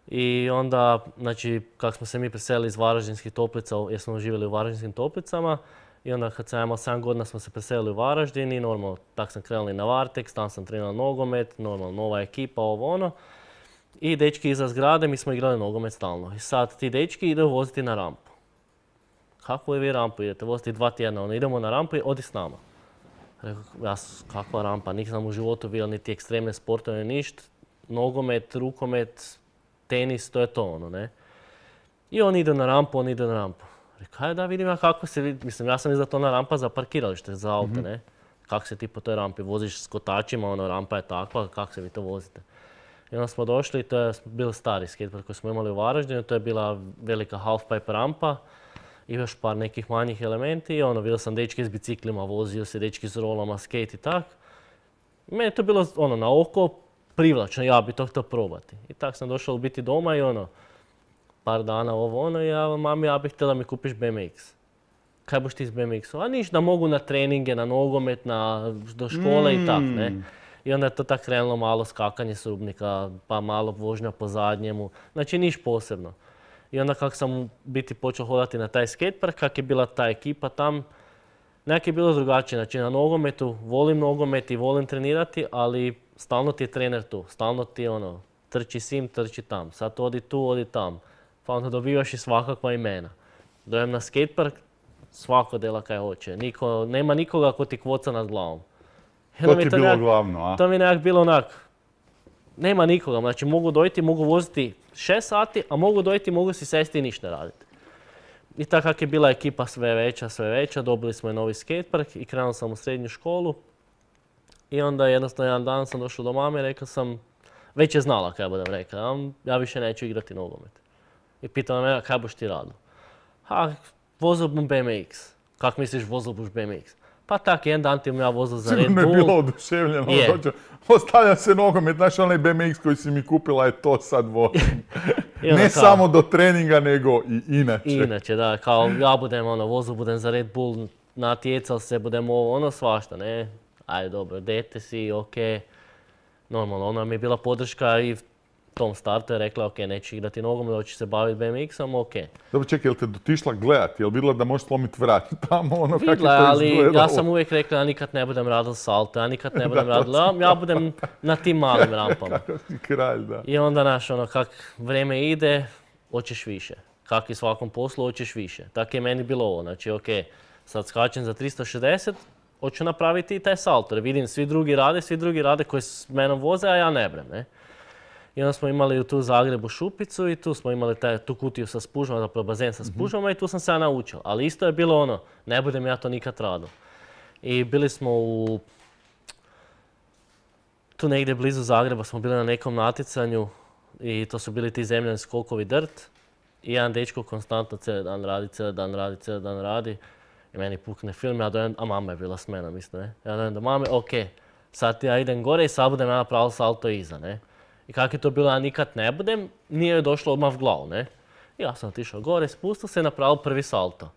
I onda, znači, kako smo se mi preselili iz Varaždinskih Toplica, jer smo živjeli u Varaždinskim Toplicama, i onda kad sam imao 7 godina smo se preselili u Varaždin i normalno tak sam krenuli na Varteks, tam sam trenirao nogomet, normalno nova ekipa, ovo ono. I dečki iza zgrade, mi smo igrali nogomet stalno. I sad ti dečki idu voziti na rampu. Kako vi rampu idete? Voziti 2 tjedna, idemo na rampu i odi s nama. Rekao, kakva rampa, nisam u životu vidio niti ekstremne sportove, ništa. Nogomet, rukomet, tenis, to je to ne. I on ide na rampu, Rekao, da vidim ja kako se vidi, mislim, ja sam iza to na rampa za parkiralište, za auto, ne. Kako se ti po toj rampi voziš s kotačima, rampa je takva, kako se vi to vozite. I onda smo došli, to je bil stari skatepark koji smo imali u Varaždinu, to je bila velika halfpipe rampa i još par nekih manjih elementi i vidio sam dečke s biciklima, vozio se dečki s rolama, skate i tak. Meni je to bilo na oko privlačno, ja bi to htio probati. I tak sam došao u biti doma i par dana i ja, mami, ja bih htjela da mi kupiš BMX. Kaj boš ti s BMX-om? A niš, da mogu na treninge, na nogomet, do škole i tak, ne. I onda je to tak krenulo malo skakanje s rubnika, pa malo vožnja po zadnjemu. Znači niš posebno. I onda kako sam biti počeo hodati na taj skatepark, kak je bila ta ekipa tam, nekak je bilo drugačije. Znači na nogometu, volim nogomet i volim trenirati, ali stalno ti je trener tu. Stalno ti trči sim, trči tam. Sad odi tu, odi tam. Pa onda dobivaš i svakakva imena. Dojem na skatepark, svako dela kaj hoće. Nema nikoga ko ti kvoca nad glavom. To ti je bilo glavno, a? To mi je nekak bilo nema nikoga. Znači mogu dojti, mogu voziti 6 sati, a mogu dojti, mogu si sesti i ništa raditi. I tako kak je bila ekipa sve veća, dobili smo i novi skatepark i krenuo sam u srednju školu. I onda jednostavno jedan dan sam došao do mame i rekao sam, već je znala kaj budem rekao, ja više neću igrati nogomet. I pitala me, kaj boš ti radio? Vozio bom BMX. Kak misliš vozio boš BMX? Pa tak, jedan dan ti ja vozio za Red Bull. Sigurno je bilo oduševljeno. Ostavljam se nogomet, znaš onaj BMX koji si mi kupila je to sad vozim. Ne samo do treninga, nego i inače. Inače, da, kao ja budem vozio budem za Red Bull, natjecal se, budem svašta, ne. Ajde, dobro, dete si, okej. normalno, ona mi je bila podrška i tom startu je rekla, ok, neću igrati nogomet, hoćeš se baviti BMX-om, ok. Dobro, čekaj, jel te dotišla gledati? Jel vidjela da možeš slomiti vrat tamo, ono kako je Vidla, to ali izgledalo? ja sam uvijek rekla, ja nikad ne budem radil salto, ja nikad ne budem radil, ja budem na tim malim rampama. Kakav si kralj, da. I onda, znaš, ono, kak vrijeme ide, hoćeš više. Kak i svakom poslu, hoćeš više. Tako je meni bilo ovo, znači, ok, sad skačem za 360, hoću napraviti i taj salto, jer vidim svi drugi rade koji s menom voze, a ja ne brem, ne. I onda smo imali tu u Zagrebu šupicu i tu smo imali tu kutiju sa spužvama, zapravo bazen sa spužvama i tu sam se ja naučio. Ali isto je bilo ono, ne budem ja to nikad radil. I bili smo tu negdje blizu Zagreba, smo bili na nekom natjecanju i to su bili ti zemljani skokovi drt. I jedan dečko konstantno cijeli dan radi. I meni pukne film, ja dojem, a mama je bila s menom isto, ne. Ja dojem do mame, ok, sad ja idem gore i sad budem ja napravil salto iza, ne. I kako je to bilo, ja nikad ne budem, nije joj došlo odmah v glavu, ne. I ja sam otišao gore, spustio se i napravil prvi salto.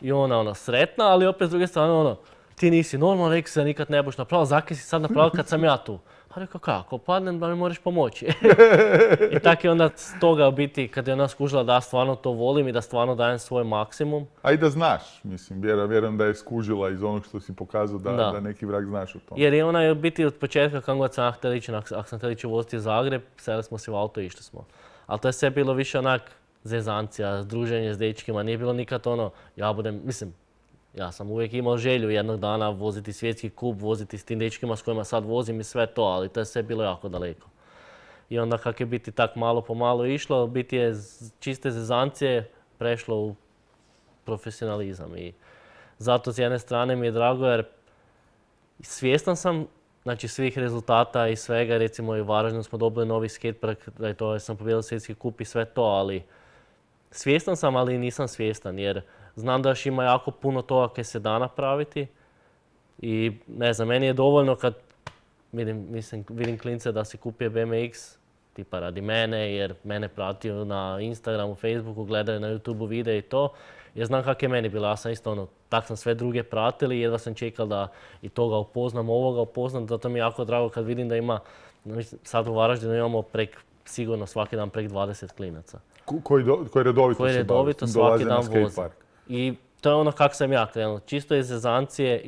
I ona sretna, ali opet s druge strane ti nisi normalno, rekao se da nikad ne budeš napravil, zakaj si sad napravil kad sam ja tu? A rekao, kako, padnem da mi moraš pomoći. I tako je onda s toga biti, kad je ona skužila da ja stvarno to volim i da stvarno dajem svoj maksimum. A i da znaš, mislim, vjerujem da je skužila iz onog što si pokazao da neki vrag znaš o tom. Jer je ona biti od početka, kako god sam htjela ići, ako sam htjela ići voziti u Zagreb, seli smo se u auto i išli smo. Ali to je sve bilo više onak zezancija, druženje s dečkima, nije bilo nikad ja sam uvijek imao želju jednog dana voziti svjetski kup, voziti s tim dečkima s kojima sad vozim i sve to, ali to je sve bilo jako daleko. I onda kako je biti tak malo po malo išlo, biti je čiste zezancije prešlo u profesionalizam. I zato s jedne strane mi je drago jer svjestan sam znači, svih rezultata i svega, recimo i u Varaždinu smo dobili novi skatepark, da je to, sam pobijedila svjetski kup i sve to, ali svjestan sam, ali nisam svjestan jer znam da još ima jako puno toga kaj se da napraviti i ne znam, meni je dovoljno kad vidim klince da si kupio BMX, tipa radi mene, jer mene pratio na Instagramu, Facebooku, gledaju na YouTubeu videa i to, jer znam kak je meni bilo, ja sam isto tak sam sve druge pratili, jedva sam čekal da i toga upoznam, ovoga upoznam, zato mi je jako drago kad vidim da ima, sad u Varaždinu imamo sigurno svaki dan prek 20 klinaca. Koji redovito svaki dan vozi. I to je ono kak sam ja krenuo, čisto iz zezancije,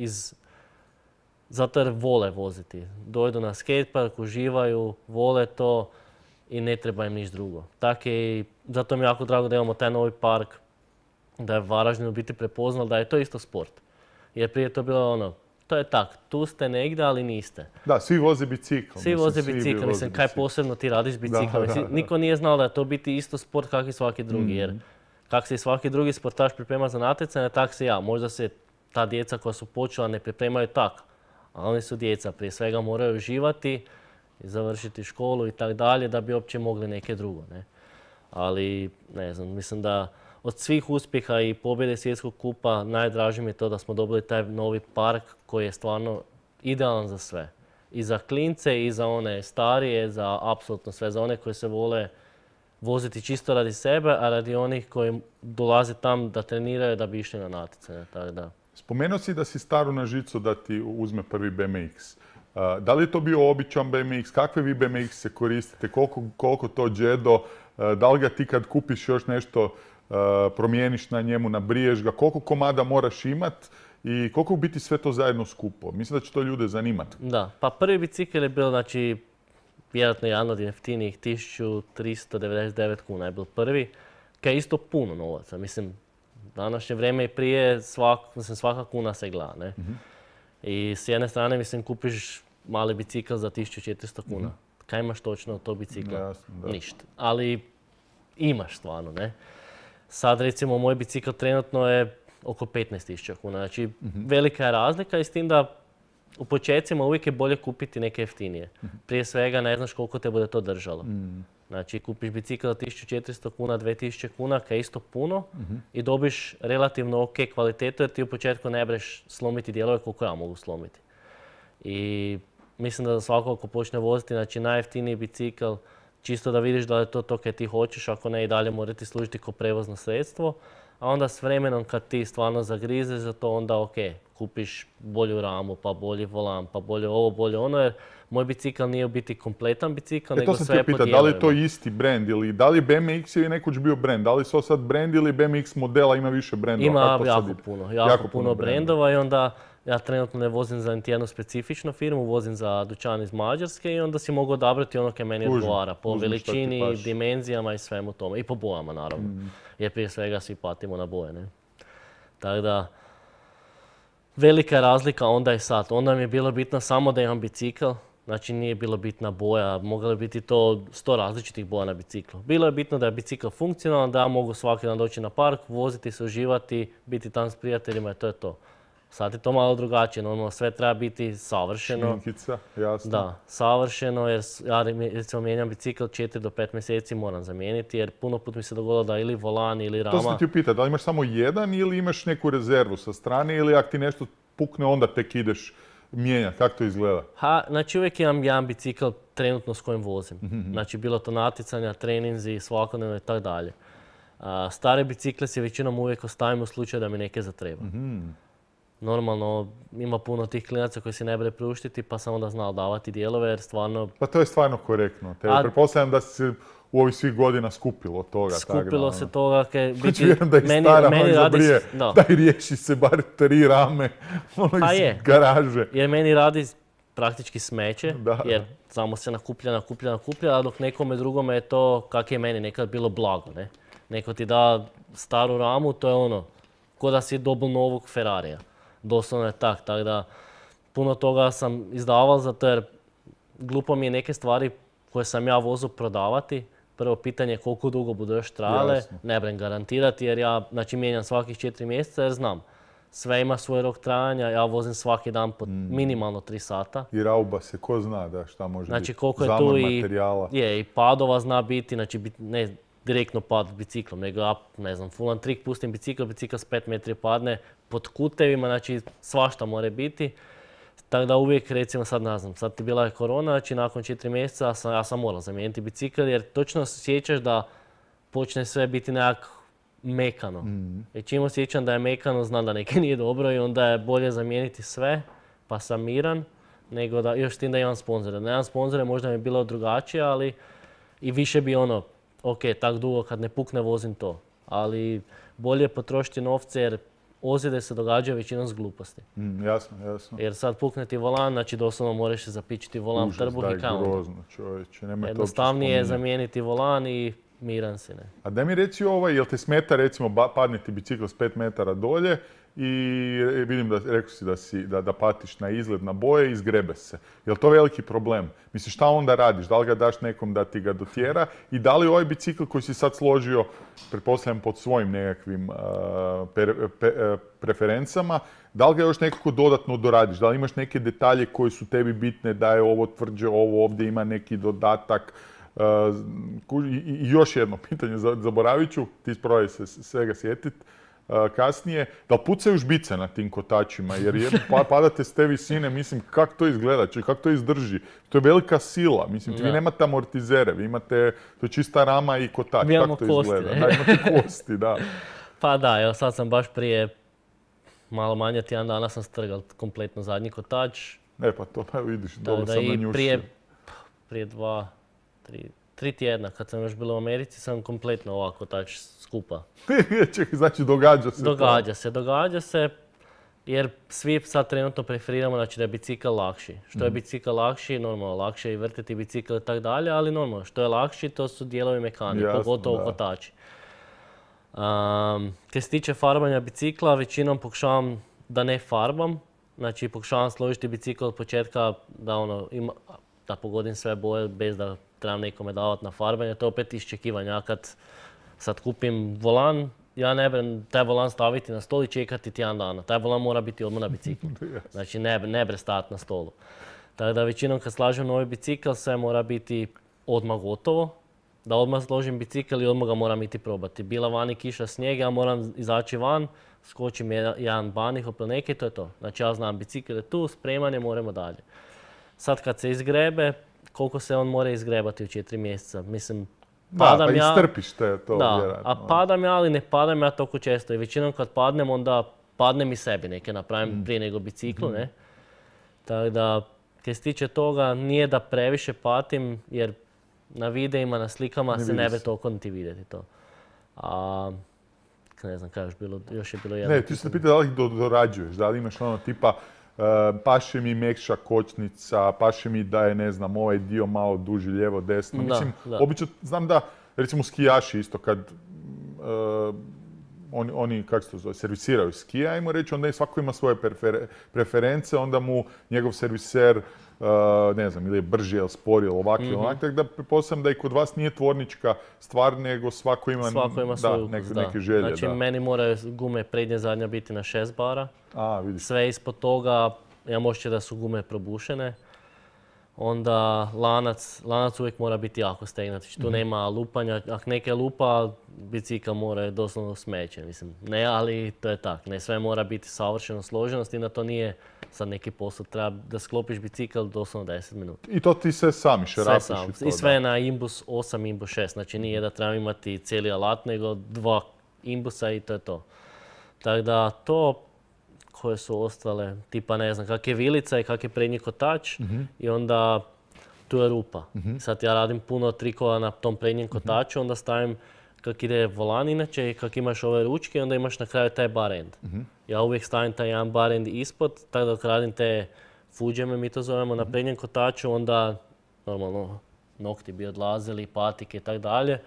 zato jer vole voziti. Dojdu na skatepark, uživaju, vole to i ne treba im niš drugo. Tako je i zato mi je jako drago da imamo taj novi park, da je Varaždinu biti prepoznal da je to isto sport. Jer prije to bilo to je tak, tu ste negdje, ali niste. Da, svi voze bicikl. Svi voze bicikl, mislim, kaj posebno ti radiš biciklom. Niko nije znao da je to biti isto sport kak i svaki drugi, jer kak se i svaki drugi sportaš priprema za natjecanje, tak se ja. Možda se ta djeca koja su počela ne pripremaju tak, a oni su djeca, prije svega moraju uživati i završiti školu i tak dalje da bi uopće mogli neke drugo, ne. Ali, ne znam, mislim da od svih uspjeha i pobjede svjetskog kupa najdraže mi je to da smo dobili taj novi park koji je stvarno idealan za sve. I za klince, i za one starije, za apsolutno sve, za one koji se vole voziti čisto radi sebe, a radi onih koji dolaze tam da treniraju da bi išli na natjecanje. Spomenuo si da si staru na žicu da ti uzme prvi BMX. Da li je to bio običan BMX? Kakve vi BMX se koristite? Koliko to džedo? Da li ga ti kad kupiš još nešto promijeniš na njemu, nabriješ ga? Koliko komada moraš imat? I koliko biti sve to zajedno skupo? Mislim da će to ljude zanimati. Da, pa prvi bicikl je bio, znači, vjerojatno jedan od jeftinijih, 1399 kuna je bil prvi, kaj je isto puno novaca. Mislim, današnje vrijeme i prije svaka kuna se gleda, ne? I s jedne strane, mislim, kupiš mali bicikl za 1400 kuna. Kaj imaš točno od tog bicikla? Jasno, da. Ništa. Ali imaš stvarno, ne? Sad, recimo, moj bicikl trenutno je oko 15.000 kuna. Znači, velika je razlika i s tim da u početcima uvijek je bolje kupiti neke jeftinije. Prije svega ne znaš koliko te bude to držalo. Znači, kupiš bicikl za 1400 kuna, 2000 kuna, kaj je isto puno i dobiš relativno ok kvalitetu jer ti u početku ne breš slomiti dijelove koliko ja mogu slomiti. I mislim da za svakog ko počne voziti, znači najjeftiniji bicikl čisto da vidiš da je to kaj ti hoćeš, ako ne i dalje mora ti služiti kao prevozno sredstvo. A onda s vremenom kad ti stvarno zagrizeš za to, onda ok, kupiš bolju ramu, pa bolji volan, pa bolje ovo, bolje ono, jer moj bicikl nije u biti kompletan bicikl, nego sve je po dijelovima. Da li je to isti brand ili da li BMX je nekoć bio brand? Da li su sad brand ili BMX modela ima više brendova? Ima jako puno brendova i onda ja trenutno ne vozim za niti jednu specifičnu firmu, vozim za dućan iz Mađarske i onda si mogu odabrati ono kaj meni odgovara. Po veličini, dimenzijama i svemu tome. I po bojama naravno. Jer prije svega svi patimo na boje. Ne? Tako da, velika je razlika onda i sad. Onda mi je bilo bitno samo da imam bicikl. Znači nije bilo bitna boja, moglo je biti to 100 različitih boja na biciklu. Bilo je bitno da je bicikl funkcionalan, da ja mogu svaki dan doći na park, voziti se, uživati, biti tam s prijateljima i to je to. Sad je to malo drugačije, normalno sve treba biti savršeno. Šminkica, jasno. Da, savršeno jer ja recimo mijenjam bicikl 4 do 5 mjeseci moram zamijeniti jer puno put mi se dogodilo da ili volan ili rama. To sam ti upitao, da li imaš samo jedan ili imaš neku rezervu sa strane ili ako ti nešto pukne onda tek ideš mijenjati, kako to izgleda? Znači uvijek imam jedan bicikl trenutno s kojim vozim. Znači bilo to natjecanja, treninzi, svakodnevno i tako dalje. Stare bicikle si većinom uvijek ostavim u slučaju da mi neke zatreba. Normalno ima puno tih klinaca koji si ne bili priuštiti pa sam onda znao davati dijelove jer stvarno... Pa to je stvarno korektno. Pretpostavljam da se u ovih svih godina skupilo toga. Skupilo se toga. Znači vjerujem da i stara moj zabrije, daj riješi se bar 3 rame iz garaže. Jer meni radi praktički smeće, jer samo se nakuplja, a dok nekome drugome je to kak je meni nekad bilo blago. Ne? Neko ti da staru ramu, to je ono, ko da si dobil novog Ferrarija. Doslovno je tako da puno toga sam izdavao zato jer glupo mi je neke stvari koje sam ja vozio prodavati. Prvo pitanje je koliko dugo budu još trajale, ne brem garantirati jer ja mijenjam svakih 4 mjeseca jer znam. Sve ima svoj rok trajanja, ja vozim svaki dan po minimalno 3 sata. I rauba se, ko zna da šta može biti, koliko je zamor tu materijala. I padova zna biti, ne direktno pad biciklom, nego ja, ne znam, full trik, pustim bicikl s 5 metri padne pod kutevima, znači svašta more biti. Tako da uvijek, recimo sad ne znam, sad ti bila je korona, znači nakon 4 mjeseca ja sam morao zamijeniti bicikl jer točno osjećaš da počne sve biti nekak mekano. I čim osjećam da je mekano, znam da neke nije dobro i onda je bolje zamijeniti sve, pa sam miran, nego da još s tim da imam sponzore. Da nemam sponzore možda mi je bilo drugačije, ali i više bi ono, ok, tak dugo kad ne pukne vozim to. Ali bolje potrošiti novce jer ozljede se događaju većinom s gluposti. Jasno. Jer sad pukne ti volan, znači doslovno moraš se zapičiti volan u trbuh i kao. Grozno, čovječe. Jednostavnije je zamijeniti volan i miran si, ne. A da mi reci jel te smeta recimo padne ti bicikl s 5 metara dolje i vidim da rekao si da patiš na izgled, na boje i izgrebe se. Jel to veliki problem? Misliš šta onda radiš? Da li ga daš nekom da ti ga dotjera i da li ovaj bicikl koji si sad složio, pretpostavljam pod svojim nekakvim preferencama, da li ga još nekako dodatno doradiš? Da li imaš neke detalje koji su tebi bitne, da je ovo tvrđe, ovo ovdje ima neki dodatak? I još jedno pitanje, zaboravit ću, ti isprobaj se svega sjetit kasnije, da li pucaju žbice na tim kotačima, jer padate s te visine, mislim, kako to izgleda, kako to izdrži? To je velika sila, mislim, vi nemate amortizere, vi imate, to je čista rama i kotač, kako to izgleda? Da, imate kosti, da. Pa da, evo sad sam baš prije malo manje tjedan dana sam strgal kompletno zadnji kotač. Pa to vidiš, dobro sam nanjušio. Prije 3 tjedna, kad sam još bila u Americi, sam kompletno ovako kotač skupa. Čekaj, znači događa se. Događa se, jer svi sad trenutno preferiramo znači, da je bicikl lakši. Što je bicikl lakši, normalno lakše je i vrtiti bicikl i tako dalje, ali normalno što je lakši to su dijelovi mekanike, pogotovo kotači. Kad se tiče farbanja bicikla, većinom pokušavam da ne farbam. Znači pokušavam složiti bicikl od početka da pogodim sve boje bez da trebam nekome davati na farbanje. To je opet iščekivanje. Ja kad sad kupim volan, ja ne brem taj volan staviti na stol i čekati tjedan dana. Taj volan mora biti odmah na biciklu. Znači ne bre stajati na stolu. Tako da većinom kad slažem novi bicikl, sve mora biti odmah gotovo. Da odmah složim bicikl i odmah ga moram iti probati. Bila vani kiša, snijeg, ja moram izaći van, skočim jedan banih, neke, to je to. Znači ja znam bicikl je tu, spreman je, moramo dalje. Sad kad se izgrebe, koliko se on mora izgrebati u 4 mjeseca. Mislim, Da, padam pa ja... istrpiš te to Da, vjerojatno. a padam ja, ali ne padam ja toliko često. I većinom kad padnem, onda padnem i sebi neke napravim prije nego biciklu, ne? Tako da, kaj se tiče toga, nije da previše patim, jer na videima, na slikama Ne se vidi ne bi se. toliko niti vidjeti to. A, ne znam kaj još je bilo jedno. Ne, ti se pita da li ih dorađuješ, da li imaš ono tipa paše mi mekša kočnica, paše mi da je, ne znam, ovaj dio malo duži, lijevo, desno. Da, Mislim, da. obično znam da, recimo skijaši isto kad oni, kako se to zove, servisiraju skije, ajmo reći, onda svako ima svoje preference, onda mu njegov serviser, ne znam, ili je brži, ili spori, ili ovak, ili onak, tako da pretpostavljam da i kod vas nije tvornička stvar, nego svako ima, Svoj ukus, neke želje. Znači, da. meni moraju gume prednje zadnja biti na 6 bara. A, vidiš. Sve ispod toga, ja možete da su gume probušene. Onda lanac uvijek mora biti jako stegnut. Znači, tu nema lupanja. Ako neke lupa, bicikl mora doslovno smeće. Mislim, ne, ali to je tak. Ne, sve mora biti savršeno složenost i na to nije sad neki posao. Treba da sklopiš bicikl doslovno 10 minuta. I to ti sve sami šerapiš Sve sam. i to, I sve da. na imbus 8, imbus 6. Znači nije da trebam imati cijeli alat, nego 2 imbusa i to je to. Tako da to, koje su ostale, tipa ne znam, kak je vilica i kak je prednji kotač i onda tu je rupa. Sad ja radim puno trikova na tom prednjem kotaču, onda stavim kak ide volan inače i kak imaš ove ručke, onda imaš na kraju taj bar end. Ja uvijek stavim taj jedan bar end ispod, tako da dok radim te fuđeme, mi to zovemo, na prednjem kotaču, onda normalno nokti bi odlazili, patike i tako dalje.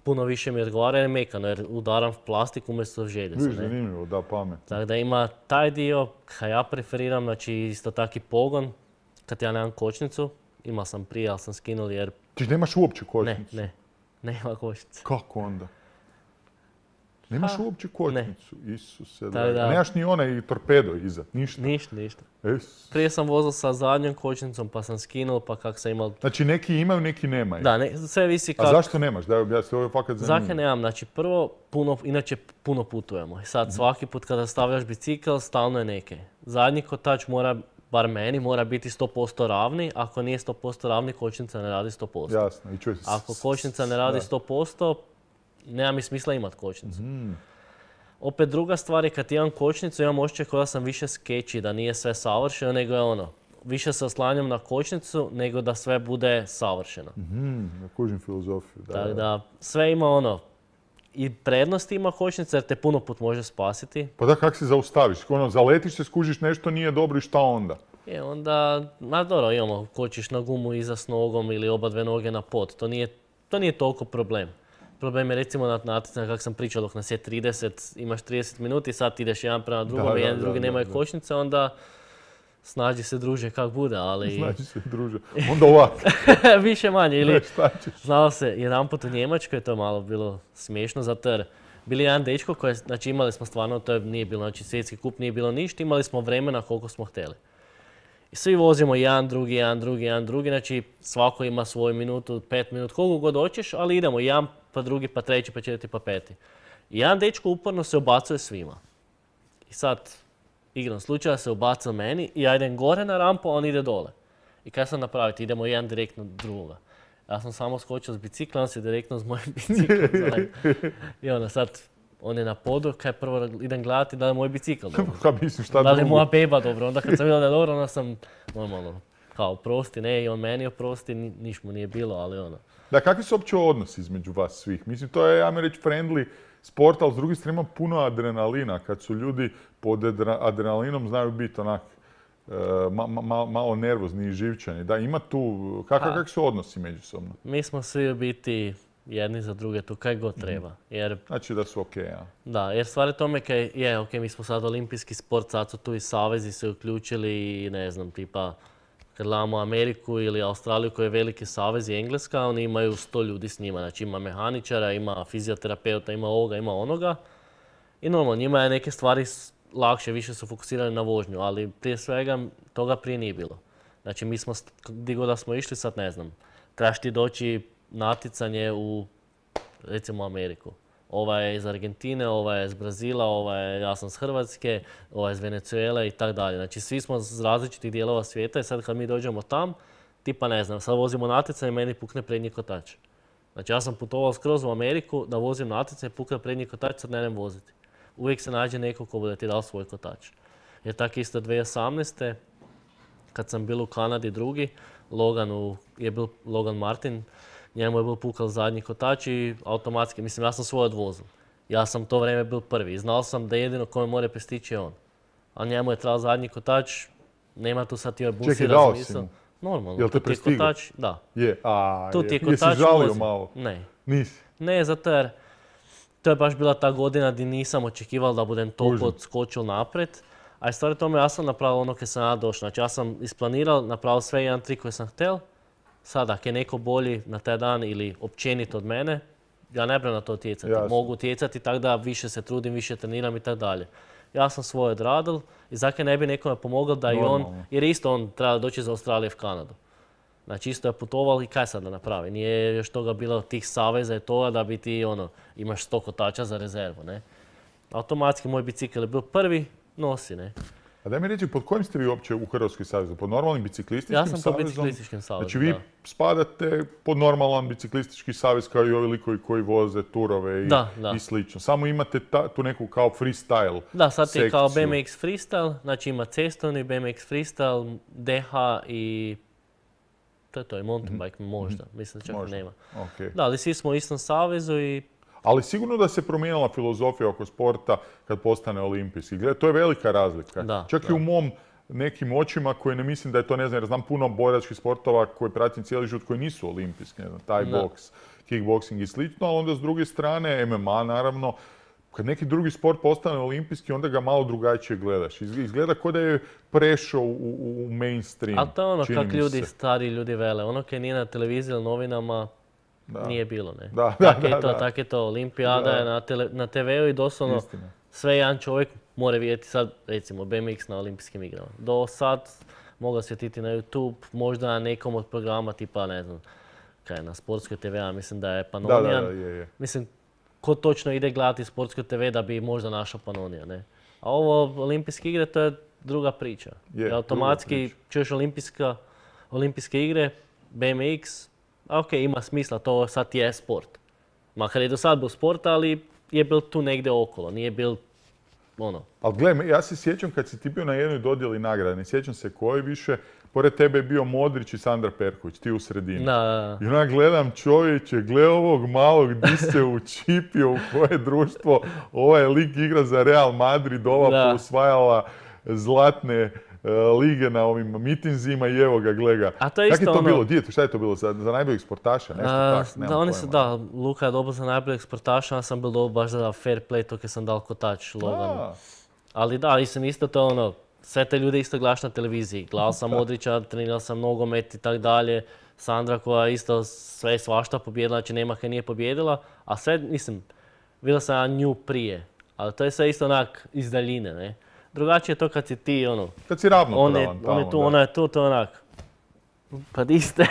Puno više mi odgovara jer je mekano, jer udaram plastiku umjesto željeza. Viš, zanimljivo, da, pamet. Tako da ima taj dio, kaj ja preferiram, znači isto taki pogon, kad ja nemam kočnicu, imao sam prije, ali sam skinuli jer Ti nemaš uopće kočnicu? nema kočnice. Kako onda? Nemaš uopće kočnicu? Isuse, Tako da. nemaš ni onaj torpedo iza, ništa. Ništa. Prije Sam vozio sa zadnjom kočnicom pa sam skinuo pa kak sam imao... Znači neki imaju, neki nemaju. Da, sve visi A zašto nemaš? Ja se ovo je fakat zanimljivo. Zakaj nemam? Znači prvo, inače puno putujemo. I sad svaki put kada stavljaš bicikl, stalno je neke. Zadnji kotač mora, bar meni, mora biti 100% ravni. Ako nije 100% ravni, kočnica ne radi 100%. Jasno. I Ako kočnica ne radi 100%, nema mi smisla imat kočnicu. Opet druga stvar je kad imam kočnicu, imam osjećaj kao da sam više skeći, da nije sve savršeno, nego je ono, više se oslanjam na kočnicu nego da sve bude savršeno. Ja kužim filozofiju. Tako da sve ima ono, i prednost ima kočnica jer te puno put može spasiti. Pa da, kak se zaustaviš? Ono, zaletiš se, skužiš nešto nije dobro i šta onda? Onda, dobro, imamo, kočiš na gumu iza s nogom ili oba dve noge na pod. To nije toliko problem. Problem je recimo na natjecanju, kako sam pričao, dok nas je 30, imaš 30 minuti, sad ideš jedan prema drugom i jedan drugi nemaju kočnice, onda snađi se druže kak bude, ali... Snađi se druže. Onda ovak. Više manje, ili... Šta ćeš? Znao se, jedanput u Njemačkoj, to je malo bilo smiješno, zato jer bili jedan dečko koji, znači imali smo stvarno, to nije bilo, znači svjetski kup nije bilo ništa, imali smo vremena koliko smo htjeli. I svi vozimo jedan drugi, znači svako ima svoju minutu, 5 minuta, koliko god hoćeš, ali idemo jedan, pa drugi, pa treći, pa četvrti, pa peti. I jedan dečko uporno se ubacuje svima. I sad, igrom slučaja se ubacao meni i ja idem gore na rampu, a on ide dole. I kaj sam napraviti? Idemo jedan direktno drugoga. Ja sam samo skočio s bicikla, on se direktno s mojim biciklom. I onda sad, on je na podu, kaj prvo idem gledati da je moj bicikl dobro. Ka mislim, šta Da li je drugo? moja beba dobro. Onda kad sam vidio da je dobro, onda sam normalno kao oprosti, ne, i on meni oprosti, niš mu nije bilo, ali ono. Da, kakvi su uopće odnosi između vas svih? Mislim, to je, ja mi reći, friendly sport, ali s druge strane ima puno adrenalina. Kad su ljudi pod adrenalinom znaju biti onak malo nervozni i živčani. Da, ima tu, kakvi su odnosi međusobno? Mi smo svi u biti jedni za druge tu kaj god treba. Jer, Znači da su okej, ja. da, jer stvar je tome kaj je, ok, mi smo sad olimpijski sport, sad su tu i savezi se uključili i ne znam, tipa kad gledamo Ameriku ili Australiju koji je veliki savez i Engleska, oni imaju 100 ljudi s njima. Znači ima mehaničara, ima fizioterapeuta, ima ovoga, ima onoga. I normalno, njima je neke stvari lakše, više su fokusirani na vožnju, ali prije svega toga prije nije bilo. Znači mi smo, gdje god da smo išli, sad ne znam, trebaš ti doći natjecanje u, recimo, Ameriku. Ova je iz Argentine, ova je iz Brazila, ja sam iz Hrvatske, ova je iz Venezuele i tako dalje. Znači svi smo iz različitih dijelova svijeta i sad kad mi dođemo tam, tipa ne znam, sad vozimo natjecanje i meni pukne prednji kotač. Znači ja sam putovao skroz u Ameriku da vozim natjecanje, pukne prednji kotač, sad ne idem voziti. Uvijek se nađe neko ko bude ti dao svoj kotač. Jer tako isto 2018. kad sam bil u Kanadi drugi, je bil Logan Martin, njemu je bil pukal zadnji kotač i automatski, mislim ja sam svoj odvozil. Ja sam to vrijeme bil prvi i znal sam da jedino kome more prestići je on. A njemu je trebao zadnji kotač, nema tu sad ti busi razmisao. Normalno. Jel te prestigao? Da. Je, Tu ti je kotač jesi žalio vozi. malo? Ne. Nisi? Ne, zato jer to je baš bila ta godina gdje nisam očekival da budem toliko odskočil napred. A i stvari tome ja sam napravil ono kad sam ja došao. Znači ja sam isplanirao, napravil sve jedan trik koji sam htjel. Sad, ako je neko bolji na taj dan ili općenito od mene, ja ne brem na to utjecati. Mogu utjecati tako da više se trudim, više treniram i tako dalje. Ja sam svoje odradil i zakaj ne bi nekome pomogao da i on, jer isto on treba doći iz Australije u Kanadu. Znači isto je putovao i kaj sad da napravi. Nije još toga bilo tih saveza i toga da bi ti imaš 100 kotača za rezervu, ne. Automatski moj bicikl je bio prvi, nosi, ne. A daj mi reći, pod kojim ste vi uopće u Hrvatskoj savezu? Pod normalnim biciklističkim savezom? Ja sam pod biciklističkim savezom, znači vi spadate pod normalan biciklistički savez kao i ovi likovi koji voze turove i slično. Samo imate tu neku kao freestyle Da, sad sekciju. je kao BMX freestyle, znači ima cestovni BMX freestyle, DH i to je mountain bike možda, mislim da čak nema. Okay. Da, ali svi smo u istom savezu i... Ali sigurno da se promijenila filozofija oko sporta kad postane olimpijski. Gledaj, to je velika razlika. Čak i u mom nekim očima koje ne mislim da je to, ne znam, jer znam puno boračkih sportova koje pratim cijeli život koji nisu olimpijski, ne znam, taj boks, kickboxing i slično, ali onda s druge strane MMA naravno, kad neki drugi sport postane olimpijski, onda ga malo drugačije gledaš. Izgleda kao da je prešao u mainstream. Ali to je ono kak ljudi, stari ljudi vele. Ono kad nije na televiziji ili novinama, nije bilo, ne. Tak je to. Olimpijada je na TV-u i doslovno sve jedan čovjek mora vidjeti sad, recimo, BMX na olimpijskim igrama. Do sad mogu svjetiti na YouTube, možda na nekom od programa tipa, ne znam, kaj na Sportskoj TV, mislim da je Panonijan. Mislim, ko točno ide gledati Sportskoj TV da bi možda našao Panonija, ne. A ovo olimpijske igre, to je druga priča. Automatski čuješ olimpijske igre, BMX, ok, ima smisla, to sad je sport. Makar je do sad bio sport, ali je bil tu negdje okolo, nije bil ono. Ali gledaj, ja se sjećam kad si ti bio na jednoj dodjeli nagrade, ne sjećam se koji više, pored tebe je bio Modrić i Sandra Perković, ti u sredini. I onak gledam čovječe, gle ovog malog di se učipio u koje društvo, ovaj lik igra za Real Madrid, ova osvajala zlatne lige na ovim mitinzima i evo ga, gle ga. A to je isto Kako je to bilo? Djeto, šta je to bilo? Za najboljeg sportaša? Luka je dobil za najboljeg sportaša, ja sam bil dobil baš za fair play, to kad sam dal kotač Loganu. Ali da, isto to ono, sve te ljude isto gledaš na televiziji. Gledal sam Modrića, trenirao sam nogomet i tak dalje. Sandra koja isto sve svašta pobjedila, znači nema kaj nije pobjedila. A sve, mislim, vidio sam ja nju prije. Ali to je sve isto onak iz daljine, ne. Drugačije je to kad si ti, ono... Kad si ravnopravan tamo, on je tu, ona je tu, to je onak... Pa di ste?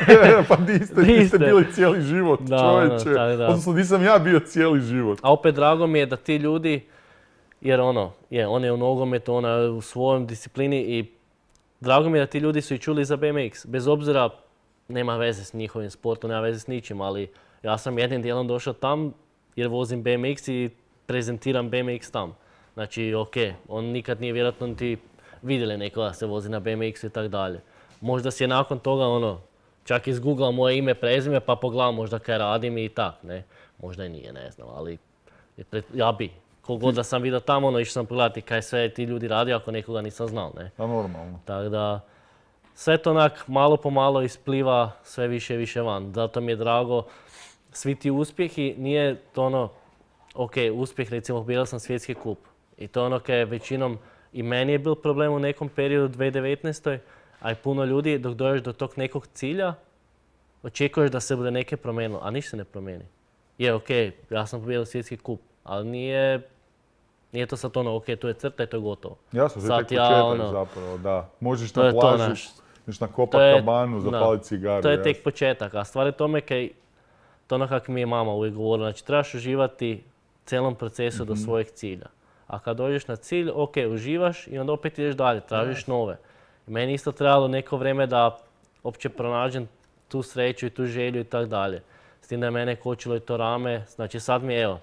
Pa di ste bili cijeli život, čovječe. Odnosno, nisam ja bio cijeli život. A opet drago mi je da ti ljudi, jer on je u nogometu, ona je u svojom disciplini i drago mi je da ti ljudi su i čuli za BMX. Bez obzira, nema veze s njihovim sportom, nema veze s ničim, ali ja sam jednim dijelom došao tam jer vozim BMX i prezentiram BMX tam. Znači, ok, on nikad nije vjerojatno niti vidjeli nekoga se vozi na BMX-u i tak dalje. Možda si je nakon toga, čak izgooglao moje ime, prezime, pa pogledao možda kaj radim i tak, ne. Možda i nije, ne znam, ali ja bi. Kogod da sam vidio tamo, išao sam pogledati kaj sve ti ljudi radi ako nekoga nisam znao, ne. A normalno. Tako da, sve to onak malo po malo ispliva sve više i više van. Zato mi je drago, svi ti uspjehi, nije to ok, uspjeh, recimo, pobjedao sam svjetski kup. I to je kaj većinom i meni je bil problem u nekom periodu 2019. A i puno ljudi, dok dođeš do tog nekog cilja, očekuješ da se bude neke promijenilo, a ništa se ne promijeni. Je, ok, ja sam pobjedio svjetski kup, ali nije to sad ok, tu je crta i to je gotovo. Jasno, to je tek početak zapravo, da. Možeš na plažu, možeš nakopat kabanu, zapaliti cigaru. To je tek početak, a stvar je tome kaj, to ono kako mi je mama uvijek govorila, znači trebaš uživati cijelom procesu do svojeg cilja. A kad dođeš na cilj, ok, uživaš i onda opet ideš dalje, tražiš nove. Meni isto trebalo neko vrijeme da uopće pronađem tu sreću i tu želju i tako dalje. S tim da je mene kočilo i to rame, znači sad mi evo,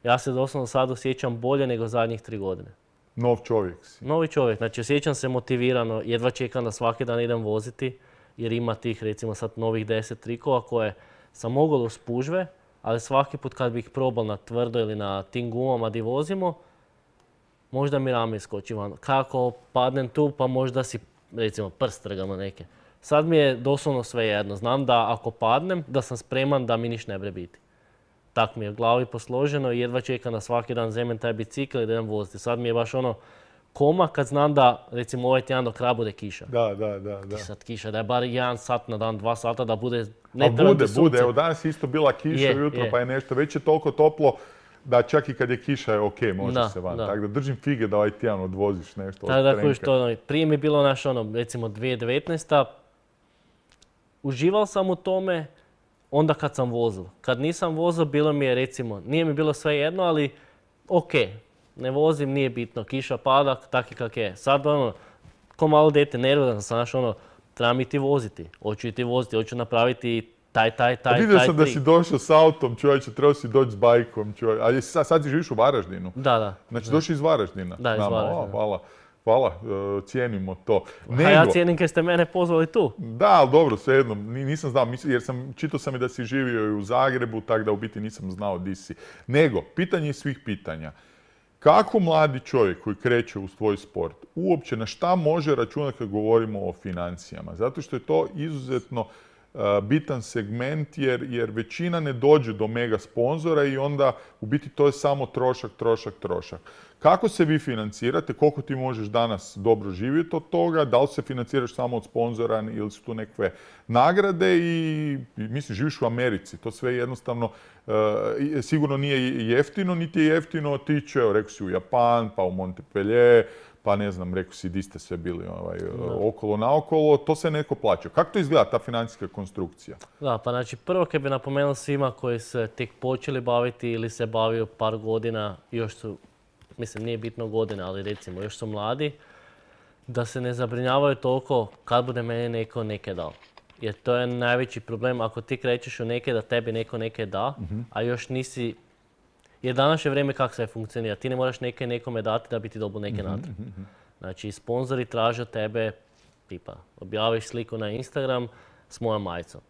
ja se doslovno sad osjećam bolje nego zadnjih 3 godine. Nov čovjek si. Novi čovjek, znači osjećam se motivirano, jedva čekam da svaki dan idem voziti, jer ima tih recimo sad novih 10 trikova koje sam mogao u spužve, ali svaki put kad bih probal na tvrdo ili na tim gumama di vozimo, možda mi rame iskoči van. Kako padnem tu, pa možda si recimo prst trgamo neke. Sad mi je doslovno sve jedno. Znam da ako padnem, da sam spreman da mi niš ne bre biti. Tak mi je u glavi posloženo i jedva čekam da svaki dan zemem taj bicikl i da idem voziti. Sad mi je baš ono koma kad znam da recimo ovaj tjedan do kraja bude kiša. Da. I sad kiša, da je bar 1 sat na dan, 2 sata da bude... A bude. Evo danas je isto bila kiša ujutro pa je nešto. Već je toliko toplo da čak i kad je kiša je ok, može se van. Tako da držim fige da ovaj tjedan odvoziš nešto od trenka. Prije mi je bilo recimo 2019. Uživao sam u tome onda kad sam vozil. Kad nisam vozil, bilo mi je recimo, nije mi bilo sve jedno, ali ok, ne vozim, nije bitno, kiša pada, tak i kak je. Sad ko malo dete, nervozan sam, trebam ti voziti, hoću ti voziti, hoću napraviti taj vidio sam da si došao s autom, čovječe, trebao si doći s bajkom, ali sad si živiš u Varaždinu. Da. Znači došli iz Varaždina. Da, iz Varaždina. Hvala, cijenimo to. A ja cijenim kad ste mene pozvali tu. Da, ali dobro, svejedno, nisam znao, jer čitao sam i da si živio i u Zagrebu, tako da u biti nisam znao di si. Nego, pitanje svih pitanja. Kako mladi čovjek koji kreće u svoj sport uopće na šta može računati kad govorimo o financijama? Zato što je to izuzetno bitan segment jer većina ne dođe do mega sponzora i onda u biti to je samo trošak. Kako se vi financirate? Koliko ti možeš danas dobro živjeti od toga? Da li se financiraš samo od sponzora ili su tu nekakve nagrade? I mislim, živiš u Americi. To sve jednostavno sigurno nije jeftino, niti je jeftino otići. Evo, rekao si u Japan, pa u Montpellier, pa ne znam, rekao si di ste sve bili okolo naokolo. To se neko plaća. Kako to izgleda, ta financijska konstrukcija? Da, pa znači prvo kad bi napomenuo svima koji se tek počeli baviti ili se bavio par godina, još su, mislim nije bitno godine, ali recimo još su mladi, da se ne zabrinjavaju toliko kad bude meni neko neke dao. Jer to je najveći problem ako ti krećeš u neke da tebi neko neke da, a još nisi... Jer danas je vrijeme kako sve funkcionira. Ti ne moraš nekome dati da bi ti dobio neke natrag. Znači, sponzori traže od tebe, tipa, objaviš sliku na Instagram s mojom majicom.